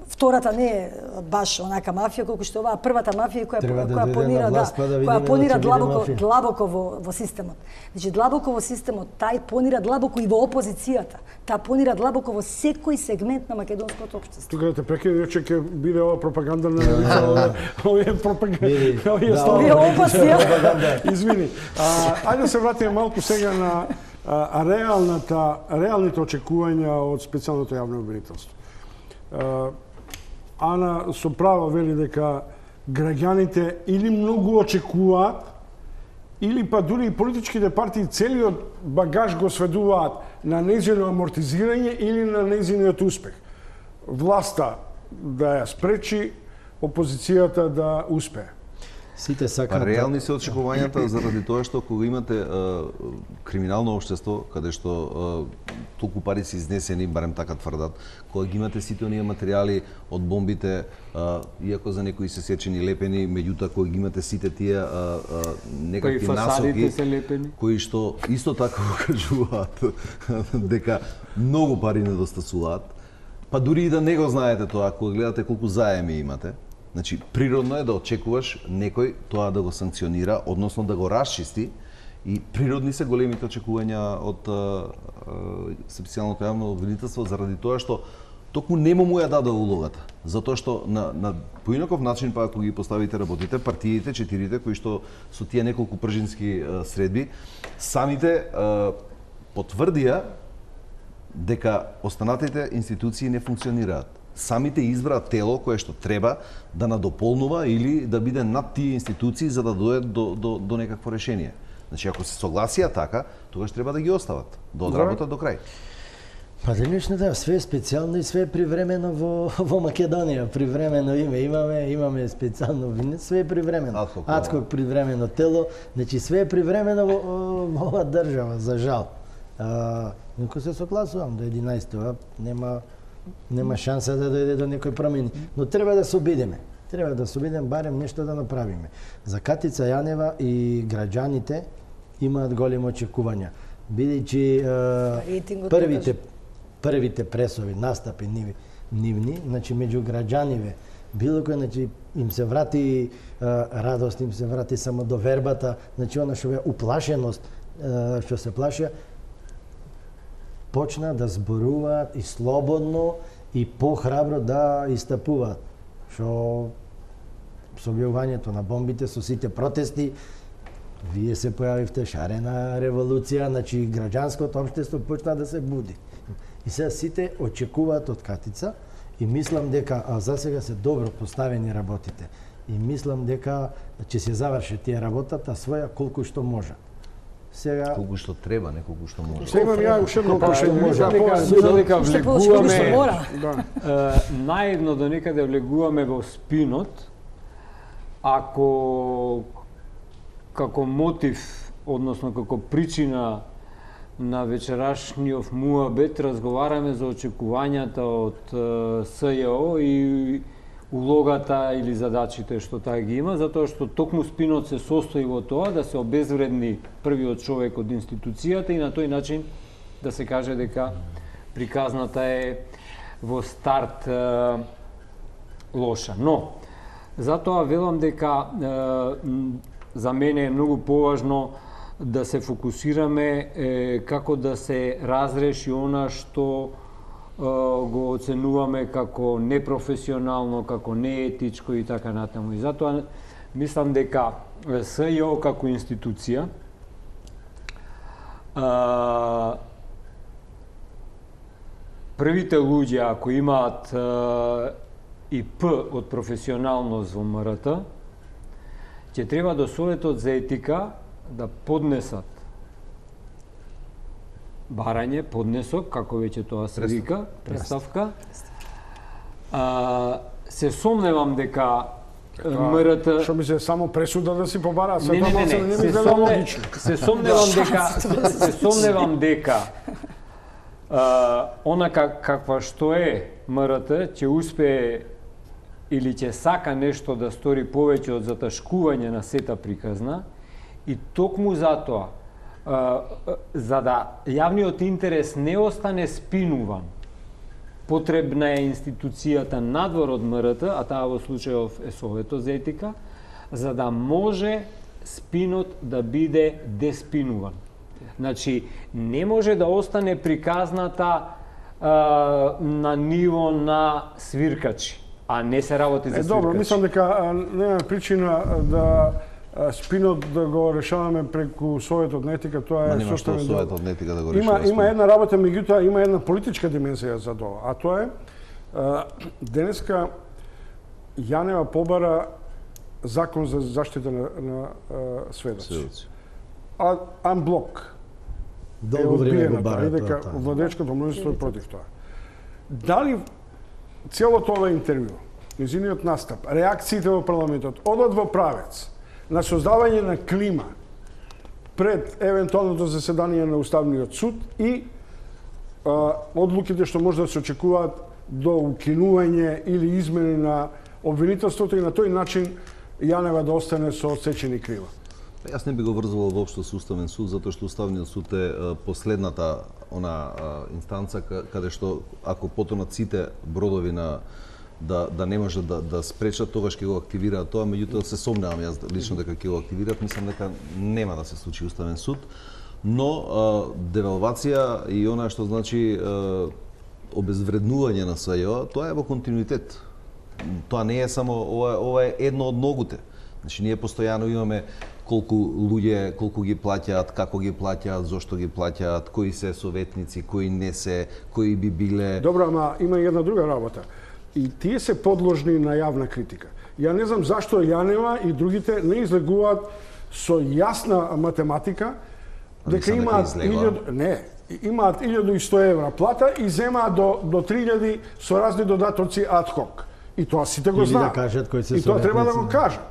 втората не е баш онака мафија колку што оваа првата мафија која понира длабоко во системот. Значи длабоко во системот, тај понира длабоко и во опозицијата. Таа понира длабоко во секој сегмент на македонското општество. Тука да те прекинем, че ќе биде ова пропаганда на овие пропаганда. Овие опасни. Извини. Ајде да се вратиме малку сега на реалните очекувања од специјалното јавно обвинителство. Ана со право вели дека граѓаните или многу очекуваат, или па дури и политичките партии целиот багаж го сведуваат на нејзино амортизирање или на нејзиниот успех. Власта да ја спречи, опозицијата да успее. Сите сакаат. Реални се очекувањата заради тоа што кога имате криминално општество, каде што толку пари се изнесени, барем така тврдат, кога ги имате сите оние материјали од бомбите, иако за некои се сечени лепени, меѓутоа кога ги имате сите тие некакви насоки, кои што исто така кажуваат дека многу пари недостасуваат, па дури и да не го знаете тоа, кога гледате колку заеми имате. Значи, природно е да очекуваш некој тоа да го санкционира, односно да го расчисти, и природни се големите очекувања од специјалното јавно обвинителство заради тоа што токму нема му ја даде улогата. Затоа што на поинаков начин, па ако ги поставите работите, партиите, четирите, кои што со тие неколку пржински средби, самите потврдија дека останатите институции не функционираат. Самите избраат тело кое што треба да надополнува или да биде над тие институции за да дојде до некакво решение. Значи, ако се согласија така, тогаш треба да ги остават, да одработат до крај. Па денешната све е специјално и све е привремено во Македонија. Привремено имаме специјално вине, све е привремено. Адхок привремено тело, значи све е привремено во оваа држава, за жал. Никој се согласувам до 11-то, нема шанса да дојде до некои промени, но треба да се обидеме. Треба да се обидеме барем нешто да направиме. За Катица Јанева и граѓаните имаат големи очекувања, бидејќи првите пресови, настапи нивни, значи меѓу граѓаниве, било кој, значи им се врати радост, им се врати самодовербата, значи она што бе уплашеност, што се плашија, почна да зборуваат и слободно и похрабро да истапуваат. Што со објавувањето на бомбите, со сите протести, вие се појавивте шарена револуција, значи граѓанското општество почна да се буди. И сега сите очекуваат од Катица и мислам дека засега се добро поставени работите. И мислам дека ќе се заврши тие работата своја колку што може. Сега колку што треба, не колку што може. Сега имам ја уште едно прашање. Дека влегуваме наедно до некаде влегуваме во спинот, ако како мотив, односно како причина на вечерашниот муабет разговараме за очекувањата од СЈО и улогата или задачите што таа ги има, затоа што токму спинот се состои во тоа да се обезвредни првиот човек од институцијата и на тој начин да се каже дека приказната е во старт лоша. Но, затоа велам дека за мене е многу поважно да се фокусираме како да се разреши она што го оценуваме како непрофесионално, како неетичко и така натаму. И затоа мислам дека СЈО како институција првите луѓе ако имаат и П од професионалност во МРТ, ќе треба до Советот за етика да поднесат барање, поднесок, како веќе тоа се вика, представка. Се сомневам дека МРТ... Што ми се само пресуда да си побараат? Не, се сомневам дека онака каква што е МРТ, ќе успее или ќе сака нешто да стори повеќе од заташкување на сета приказна и токму затоа За да јавниот интерес не остане спинуван, потребна е институцијата надвор од МРТ, а таа во случајов е Советот за етика, за да може спинот да биде деспинуван. Значи, не може да остане приказната на ниво на свиркачи, а не се работи за свиркачи. Добро, мислам дека нема причина да спинот да го решаваме преку Советот на етика, тоа е составен дел. Советот на етика да го решава. Има една работа, меѓутоа има една политичка димензија за тоа, а тоа е денеска Јанева побара закон за заштита на сведоци. Анблок. Долго време го бара дека владечкото мнозинство е против тоа. Дали целото ова интервју, низиниот настап, реакциите во парламентот одат во правец на создавање на клима пред евентуалното заседание на Уставниот суд и одлуките што може да се очекуваат до укинување или измени на обвинителството и на тој начин Јанева да остане со отсечени крила. Јас не би го врзувал воопшто со Уставен суд, затоа што Уставниот суд е последната инстанца каде што ако потонат сите бродови на да не може да спречат, тогаш ќе го активираат тоа, меѓутоа се сомневам јас лично дека ќе го активираат, мислам дека нема да се случи Уставен суд, но девалвација и она што значи обезвреднување на СЈО, тоа е во континуитет. Тоа не е само ова е едно од многуте. Значи ние постојано имаме колку луѓе, колку ги плаќаат, како ги плаќаат, зошто ги плаќаат, кои се советници, кои не се, кои би биле. Добро, ама има и една друга работа. И тие се подложни на јавна критика. Ја не знам зашто Јанева и другите не излегуваат со јасна математика дека имаат 1100 евра плата и земаат до 3000 со разни додатоци ад-хок. И тоа сите го знаат. И тоа треба да го кажат.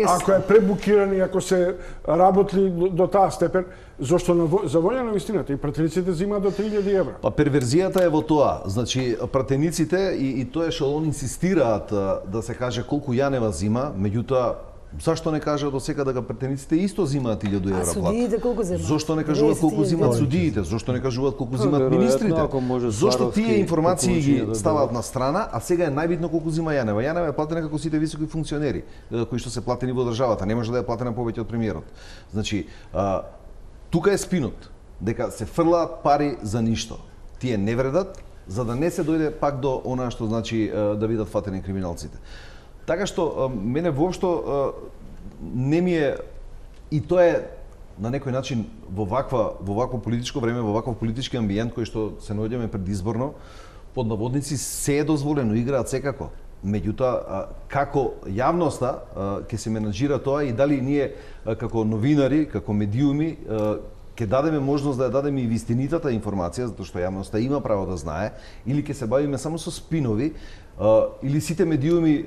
Ако е пребукиран и ако се работи до таа степен, зошто за волја на вистината и пратениците земаат до 3000 евра? Па перверзијата е во тоа. Значи пратениците и тоа што он инсистираат да се каже колку Јанева зима, меѓутоа зашто не кажат до сега дека пратениците исто зимаат 1000 евра плата? А судиите колку земаат? Зошто не кажуваат колку зимаат судиите? Зошто не кажуваат колку зимаат министрите? Зошто тие информации ги ставаат на страна, а сега е најбитно колку зима Јанева? Јанева е платена како сите високи функционери кои што се платени во државата, не може да е платена повеќе од премиерот. Значи, тука е спинот, дека се фрлаат пари за ништо. Тие не вредат, за да не се дојде пак до она што значи да бидат фатени криминалците. Така што мене воопшто не ми е, и тоа е на некој начин во вакво политичко време, во ваков политички амбиент кој што се наоѓаме предизборно, под наводници се е дозволено, играат секако. Меѓутоа, како јавноста ќе се менаџира тоа и дали ние како новинари, како медиуми ќе дадеме можност да ја дадеме и вистинитата информација, затоа што јавноста има право да знае, или ќе се бавиме само со спинови, или сите медиуми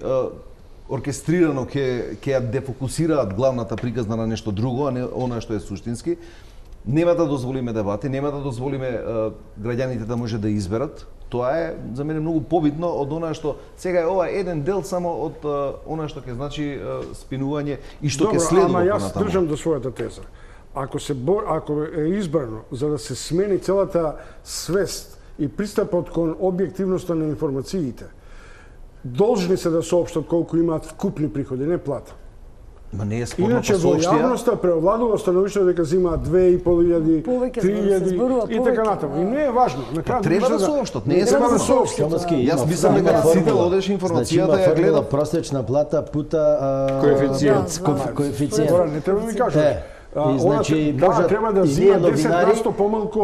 оркестрирано ќе ја дефокусираат главната приказна на нешто друго, а не она што е суштински. Нема да дозволиме дебати, нема да дозволиме граѓаните да може да изберат. Тоа е за мене многу побитно од она што сега е ова еден дел само од она што ќе значи спинување и што ќе следува понатаму. Ама јас држам до својата теза. Ако е избрано за да се смени целата свест и пристапот кон објективноста на информациите, должни се да соопштат колку имаат вкупни приходи, не плата. Ма не е спорно. Иначе во јавноста преовладува становиштето дека земаат 2500, 3000 и така натаму. И не е важно. Треба да соопштат, не е само да соопштат. Јас мислам дека на сите одеш информацијата ја гледа просечна плата пута коефициент. Не треба да ми кажеш. И значи може треба да зима 10% помалку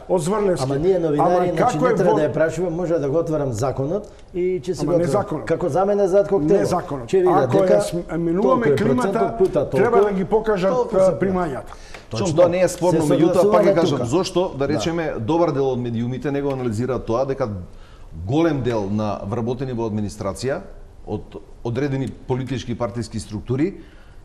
од Зврневски. Ама ние новинари, значи не треба да ја прашуваме, може да го отворам законот и ќе се го отворам. Како за мене зад коктел. Не законот. Ако ја менуваме климата, треба да ги покажат примањата. Точно тоа не е спорно, меѓутоа пак ќе кажам зошто да речеме добар дел од медиумите не го анализираат тоа дека голем дел на вработени во администрација од одредени политички партиски структури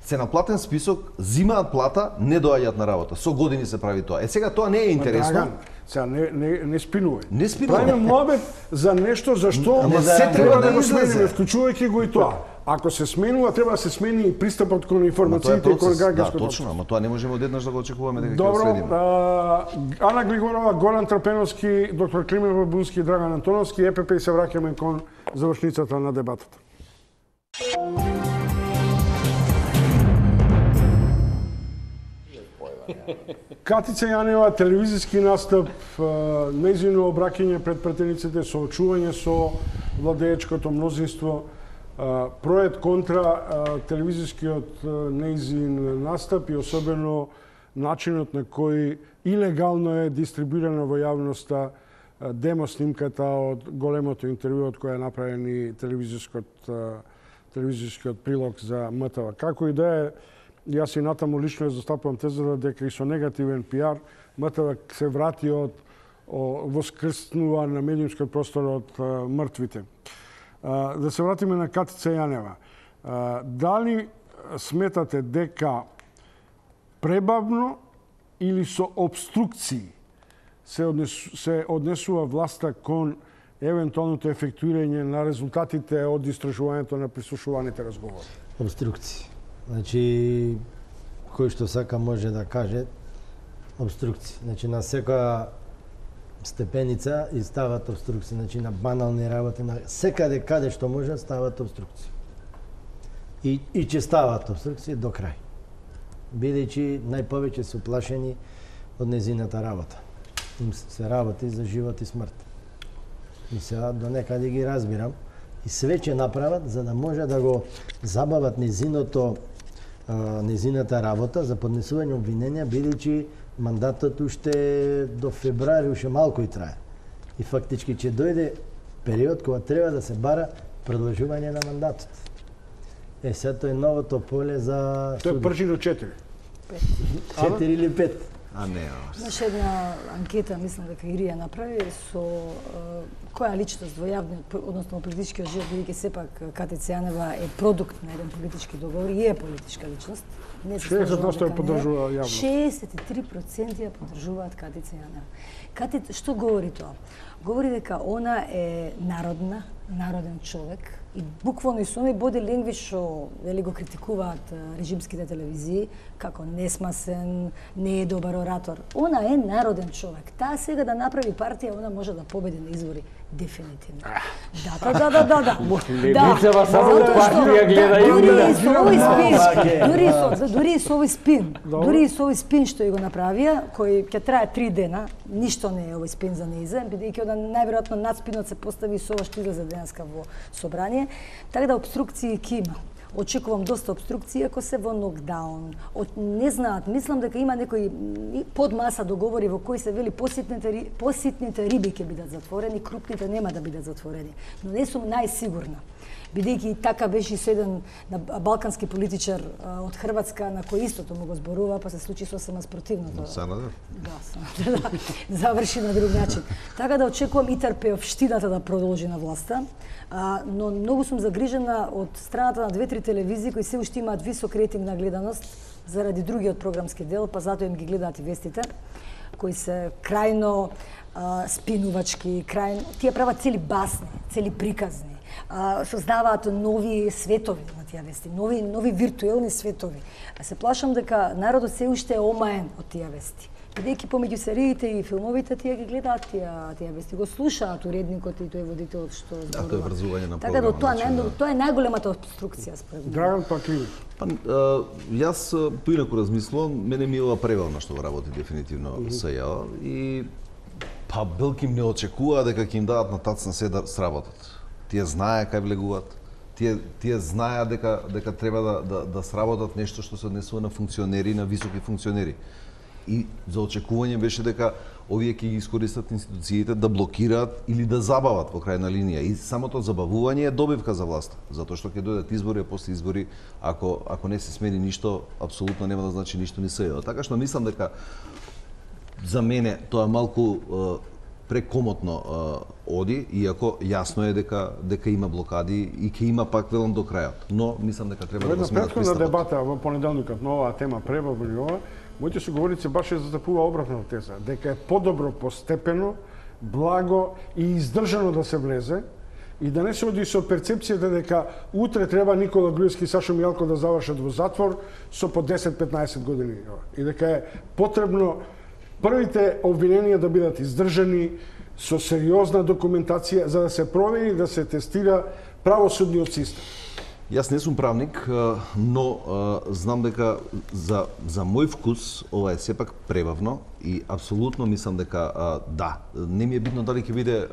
се на платен список, зимаат плата, не доаѓаат на работа. Со години се прави тоа. Сега тоа не е интересно. Драган, сега не спинувај. Не спинувај. Правиме муабет за нешто за што се треба да го смениме, вклучувајќи го и тоа. Ако се сменува, треба да се смени и пристапот кон информациите и кон граѓанското. Да, точно, ама тоа не можеме одеднаш да го очекуваме дека ќе Добро, следиме. Ана Глигорова, Горан Трпеновски, доктор Климен Бабунски и Драган Антоновски, ЕПП и се враќаме кон завршницата на дебатата. Катица Јанева, телевизиски настап, нејзино обраќање пред пратениците, соочување со владеечкото мнозинство, проект контра телевизискиот нејзин настап и особено начинот на кој илегално е дистрибуирана во јавноста демо снимката од големото интервју од која е направен и телевизискиот прилог за МТВ. Како и да е, јас и натаму лично застапувам тезата дека и со негативен пиар МТВ се врати од воскрснува на медиумскиот простор од мртвите. Да се вратиме на Катица Јанева. Дали сметате дека пребавно или со обструкции се однесува власта кон евентуалното ефектуирање на резултатите од истражувањето на прислушуваните разговори? Обструкции. Значи, кој што сака може да каже обструкции. Значи, на секоја степеница и стават обструкции. Значи, на банални работи, на секаде каде што може стават обструкции. И ќе стават обструкции до крај. Бидејќи најповеќе се уплашени од незината работа. Им се работи за живот и смрт. И сега до некаде ги разбирам. И све ќе направат за да може да го забават незината работа за поднесување обвиненија, бидејќи мандатот уште до февруари уште малку и трае. И фактички ќе дојде период кога треба да се бара продолжување на мандатот. Сега тоа е новото поле за Тоа е пржи до 4. 4 или 5. А не, Имаше една анкета, мислам дека Ирија направи, со која личност во јавниот, односно политичкиот живот, бидејќи сепак Катица Јанева е продукт на еден политички договор и е политичка личност. 60% ја поддржува јавно. 63% ја поддржуваат Катица Јанева. Што говори тоа? Говори дека она е народен човек и буквално и со оној боди ленгвиш што вели го критикуваат режимските телевизии како несмасен, не е добар оратор. Она е народен човек. Таа сега да направи партија, она може да победи на избори дефинитивно. Да. Левицава само партија гледа и дури и со овој спин што го направија, кој ќе трае 3 дена, ништо не е овој спин за нејзе, бидејќи најверојатно надспинот се постави со ова што излезе денеска во собрание, така да обструкции ќе има. Очекувам доста обструкции ако се во нокдаун. Не знаат, мислам дека има некои подмаса договори во кои се вели поситните риби ќе бидат затворени, крупните нема да бидат затворени. Но не сум најсигурна. Бидејќи така беше со еден балкански политичар од Хрватска на кој истото му го зборува, па се случи сосема спротивното. Санадер? Да, заврши на друг начин. Така да очекувам и трпеовштината да продолжи на власта, но многу сум загрижена од страната на 2-3 телевизии кои се уште имаат висок рейтинг на гледаност заради другиот програмски дел, па затоа им ги гледаат и вестите, кои се крајно спинувачки, тие прават цели басни, цели приказни. Создаваат нови светови на тие вести, нови виртуелни светови. Се плашам дека народот се уште е омаен од тие вести. Бидејќи помеѓу сериите и филмовите тие ги гледаат тие вести, го слушаат уредникот и тој водителот што зборува. Тоа е врзување на така да тоа е најголемата обструкција според мене. Драган Пакливи. Јас поинаку размислувам, мене ми е ова превална што работи дефинитивно СЈО и Белким не очекува дека ќе им дадат на тацна се да сработат. Тие знае кај влегуваат. Тие знаеа дека треба да сработат нешто што се однесува на функционери, на високи функционери. И за очекување беше дека овие ќе ги искористат институциите да блокираат или да забават во крајна линија. И самото забавување е добивка за власта, затоа што ќе дојдат избори, а после избори, ако не се смени ништо, апсолутно нема да значи ништо ни СЈО. Така што мислам дека за мене тоа е малку прекомотно оди, иако јасно е дека има блокади и ќе има пак велам до крајот. Но мислам дека треба да го сменат пристапот. Предходна дебата во понеделникот на оваа тема пребавување ова, моите соговорници баш застапува обратната теза, дека е подобро постепено, благо и издржано да се влезе, И да не се оди со перцепцијата дека утре треба Никола Груевски и Сашо Мијалков да завршат во затвор со по 10-15 години. И дека е потребно првите обвиненија да бидат издржани со сериозна документација за да се провери, да се тестира правосудниот систем. Јас не сум правник, но знам дека за мој вкус ова е сепак пребавно и апсолутно мислам дека да, не ми е битно дали ќе биде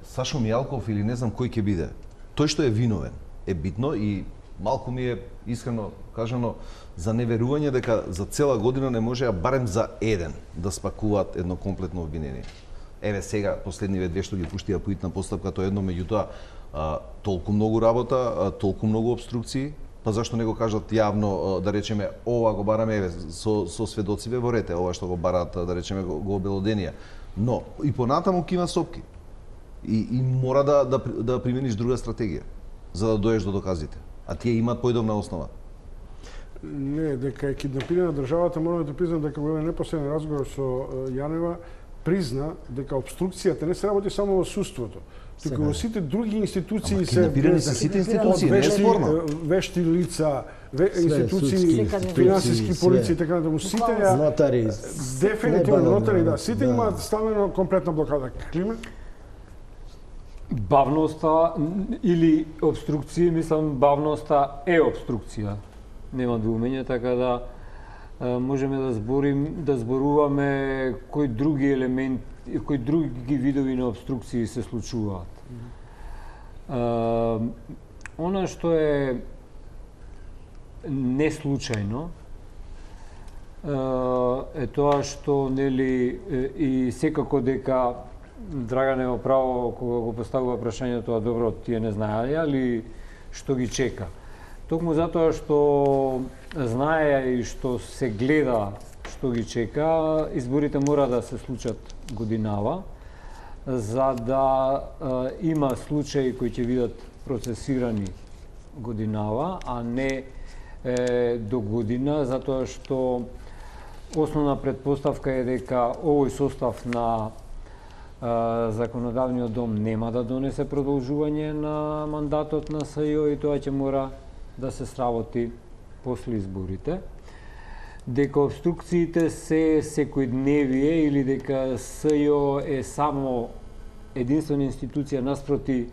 Сашо Мијалков или не знам кој ќе биде. Тој што е виновен е битно и малку ми е искрено кажано за неверување дека за цела година не можеа барем за еден да спакуваат едно комплетно обвинение. Еве сега последниве две што ги пуштија по итна постапка, тоа едно, меѓутоа толку многу работа, толку многу обструкции, па зашто не го кажат јавно, да речеме, ова го бараме еве со сведоциве во рете, ова што го бараат, да речеме, го обелоденија. Но и понатаму ќе има сопки. И мора да примениш друга стратегија за да доеш до доказите. А тие имаат поидобна основа. Не, дека е киднапирана државата, морам да признам дека во еден непосреден разговор со Јанева призна дека обструкцијата не се работи само во суството, туку во сите други институции се киднапирани се сите институции, не е спорно. Вешти лица, институции, финансиски полиции и така натаму, сите ја нотари, дефинитивно нотари, да, сите имаат ставено комплетна блокада. Климен? Бавноста или обструкција, мислам, бавноста е обструкција. Нема двумење, така да можеме да зборуваме кои други елементи, кои други видови на обструкции се случуваат. Она што е неслучајно е тоа што нели и секако дека Драгане во право кога го поставува прашањето, добро, тие не знаеја ли што ги чека. Токму затоа што знае и што се гледа што ги чека, изборите мора да се случат годинава, за да има случаи кои ќе бидат процесирани годинава, а не до година, затоа што основна предпоставка е дека овој состав на Законодавниот дом нема да донесе продолжување на мандатот на СЈО и тоа ќе мора да се сработи после изборите. Дека обструкциите се секојдневие или дека СЈО е само единствена институција наспроти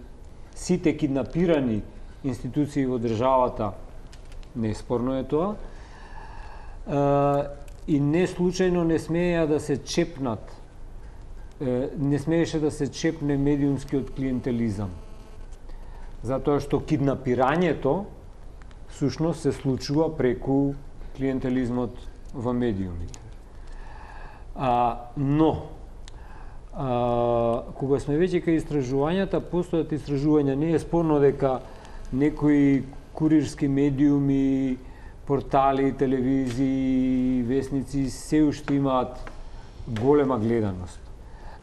сите киднапирани институции во државата, неспорно е тоа. И не случајно не смеја да се чепнат, не смееше да се чепне медиумскиот клиентелизам. Затоа што киднапирањето сушност се случува преку клиентелизмот во медиумите. Но, кога сме веќе кај истражувањата, постојат истражувања, не е спорно дека некои курирски медиуми, портали, телевизии, весници се уште имаат голема гледаност.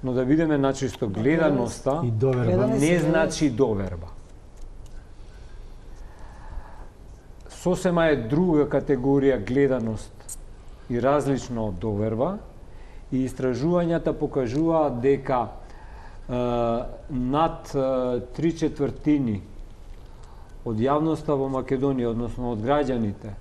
Но да бидеме начисто, гледаноста не значи доверба. Сосема е друга категорија гледаност и различно од доверба, и истражувањата покажуваат дека над 3/4 од јавноста во Македонија, односно од граѓаните,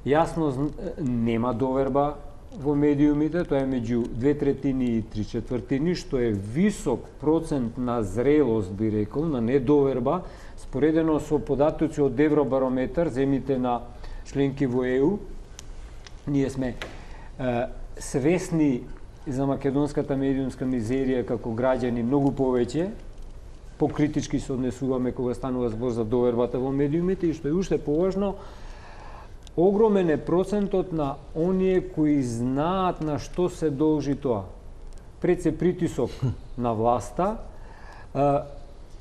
јасно нема доверба во медиумите, тоа е меѓу 2/3 и 3/4, што е висок процент на зрелост, би рекол, на недоверба, споредено со податоци од Евробарометар, земите на членки во ЕУ. Ние сме свесни за македонската медиумска мизерија како граѓани многу повеќе, покритички се однесуваме кога станува збор за довербата во медиумите, и што е уште поважно, огромен е процентот на оние кои знаат на што се должи тоа. Пред се притисок на власта,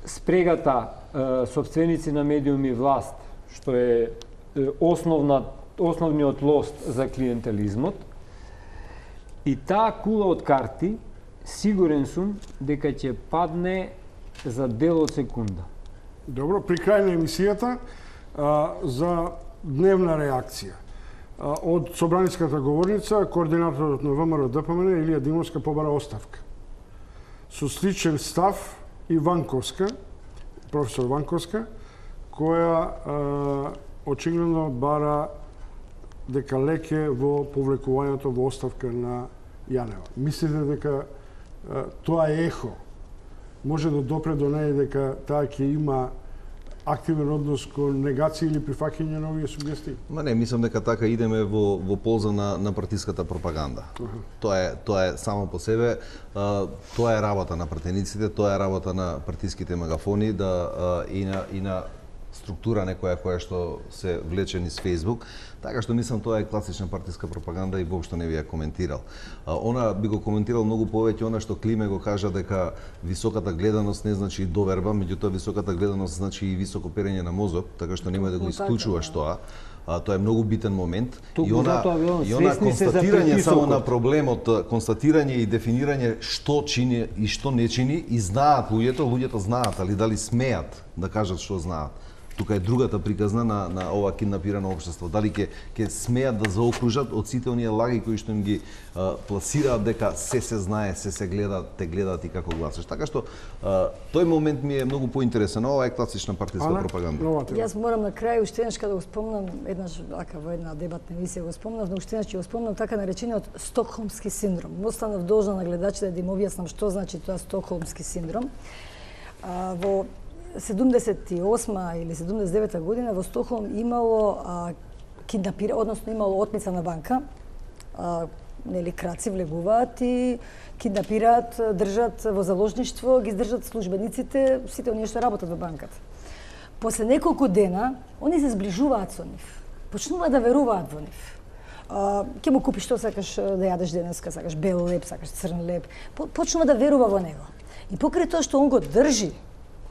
спрегата сопственици на медиуми власт, што е основниот лост за клиентелизмот, и таа кула од карти, сигурен сум дека ќе падне за дел од секунда. Добро, при крај на емисијата за дневна реакција. Од собраниската говорница, координаторот на ВМРО ДПМН Илија Димовска побара оставка. Со сличен став и Ванковска професор Ванковска, која очигледно бара дека леќе во повлекувањето во оставка на Јанева. Мислите дека тоа е ехо? Може да допре до неја дека таа ќе има активен однос кон негација или прифаќање на овие сугестии? Ма не, мислам дека така идеме во полза на партиската пропаганда. Тоа е само по себе, тоа е работа на пратениците, тоа е работа на партиските мегафони и на структура некоја која што се влече низ Facebook, така што мислам тоа е класична партиска пропаганда и воопшто не би ја коментирал. Она би го коментирал многу повеќе она што Климе го кажа дека високата гледаност не значи и доверба, меѓутоа високата гледаност значи и високо перење на мозок, така што нема да го исклучуваш тоа. Тоа е многу битен момент и она констатирање само на проблемот, констатирање и дефинирање што чини и што не чини и знаат луѓето знаат, али дали смеат да кажат што знаат. Тука е другата приказна на ова киднапирано општество. Дали ќе смеат да заокружат од сите оние лаги кои што им ги пласираат дека се знае, се гледа, те гледаат и како гласаш. Така што тој момент ми е многу поинтересен. Ова е класична партиска пропаганда. Јас морам на крај уште еднаш кога го спомнам, еднаш ака во една дебатна емисија го спомнав, но уште еднаш ќе го спомнам така наречениот стокхолмски синдром. Останав должна на гледачите да им објаснам што значи тоа стокхолмски синдром. Во 78 или 79 година во Стокхолм имало односно имало отмица на банка. Нели краци влегуваат и киднапираат, држат во заложништво, ги издржат службениците, сите оние што работат во банката. После неколку дена, они се зближуваат со нив. Почнуваат да веруваат во нив. Ќе му купиш што сакаш да јадеш денеска, сакаш бел леб, сакаш црн леб. Почнува да верува во него. И покрај тоа што он го држи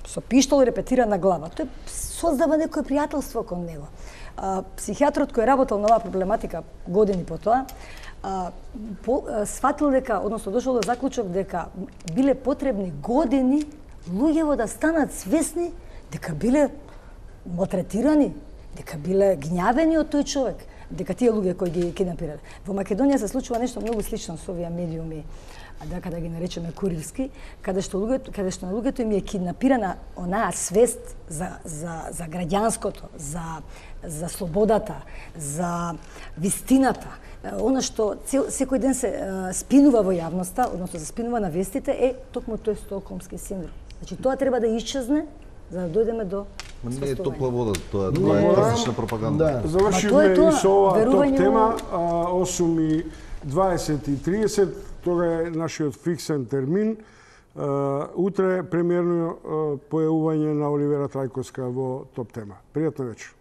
со пиштол репетира на глава, тој создава некое пријателство кон него. Психијатрот кој работел на оваа проблематика години по тоа, сватил дека, односно дошол до заклучок дека биле потребни години луѓево да станат свесни дека биле малтретирани, дека биле гњавени од тој човек, дека тие луѓе кои ги киднапирале. Во Македонија се случува нешто многу слично со овие медиуми, дека да ги наречеме курирски, каде што на луѓето им е киднапирана онаа свест за граѓанското, за слободата, за вистината. Она што секој ден се спинува во јавноста, односно се спинува на вестите, е токму тој стокхолмски синдром. Значи тоа треба да исчезне за да дојдеме до не е топла вода, тоа е класична пропаганда. Завршивме и со оваа топ тема, 8:20-30, тога е нашиот фиксен термин. Утре премиерно појавување на Оливера Трајковска во топ тема. Пријатна вечер.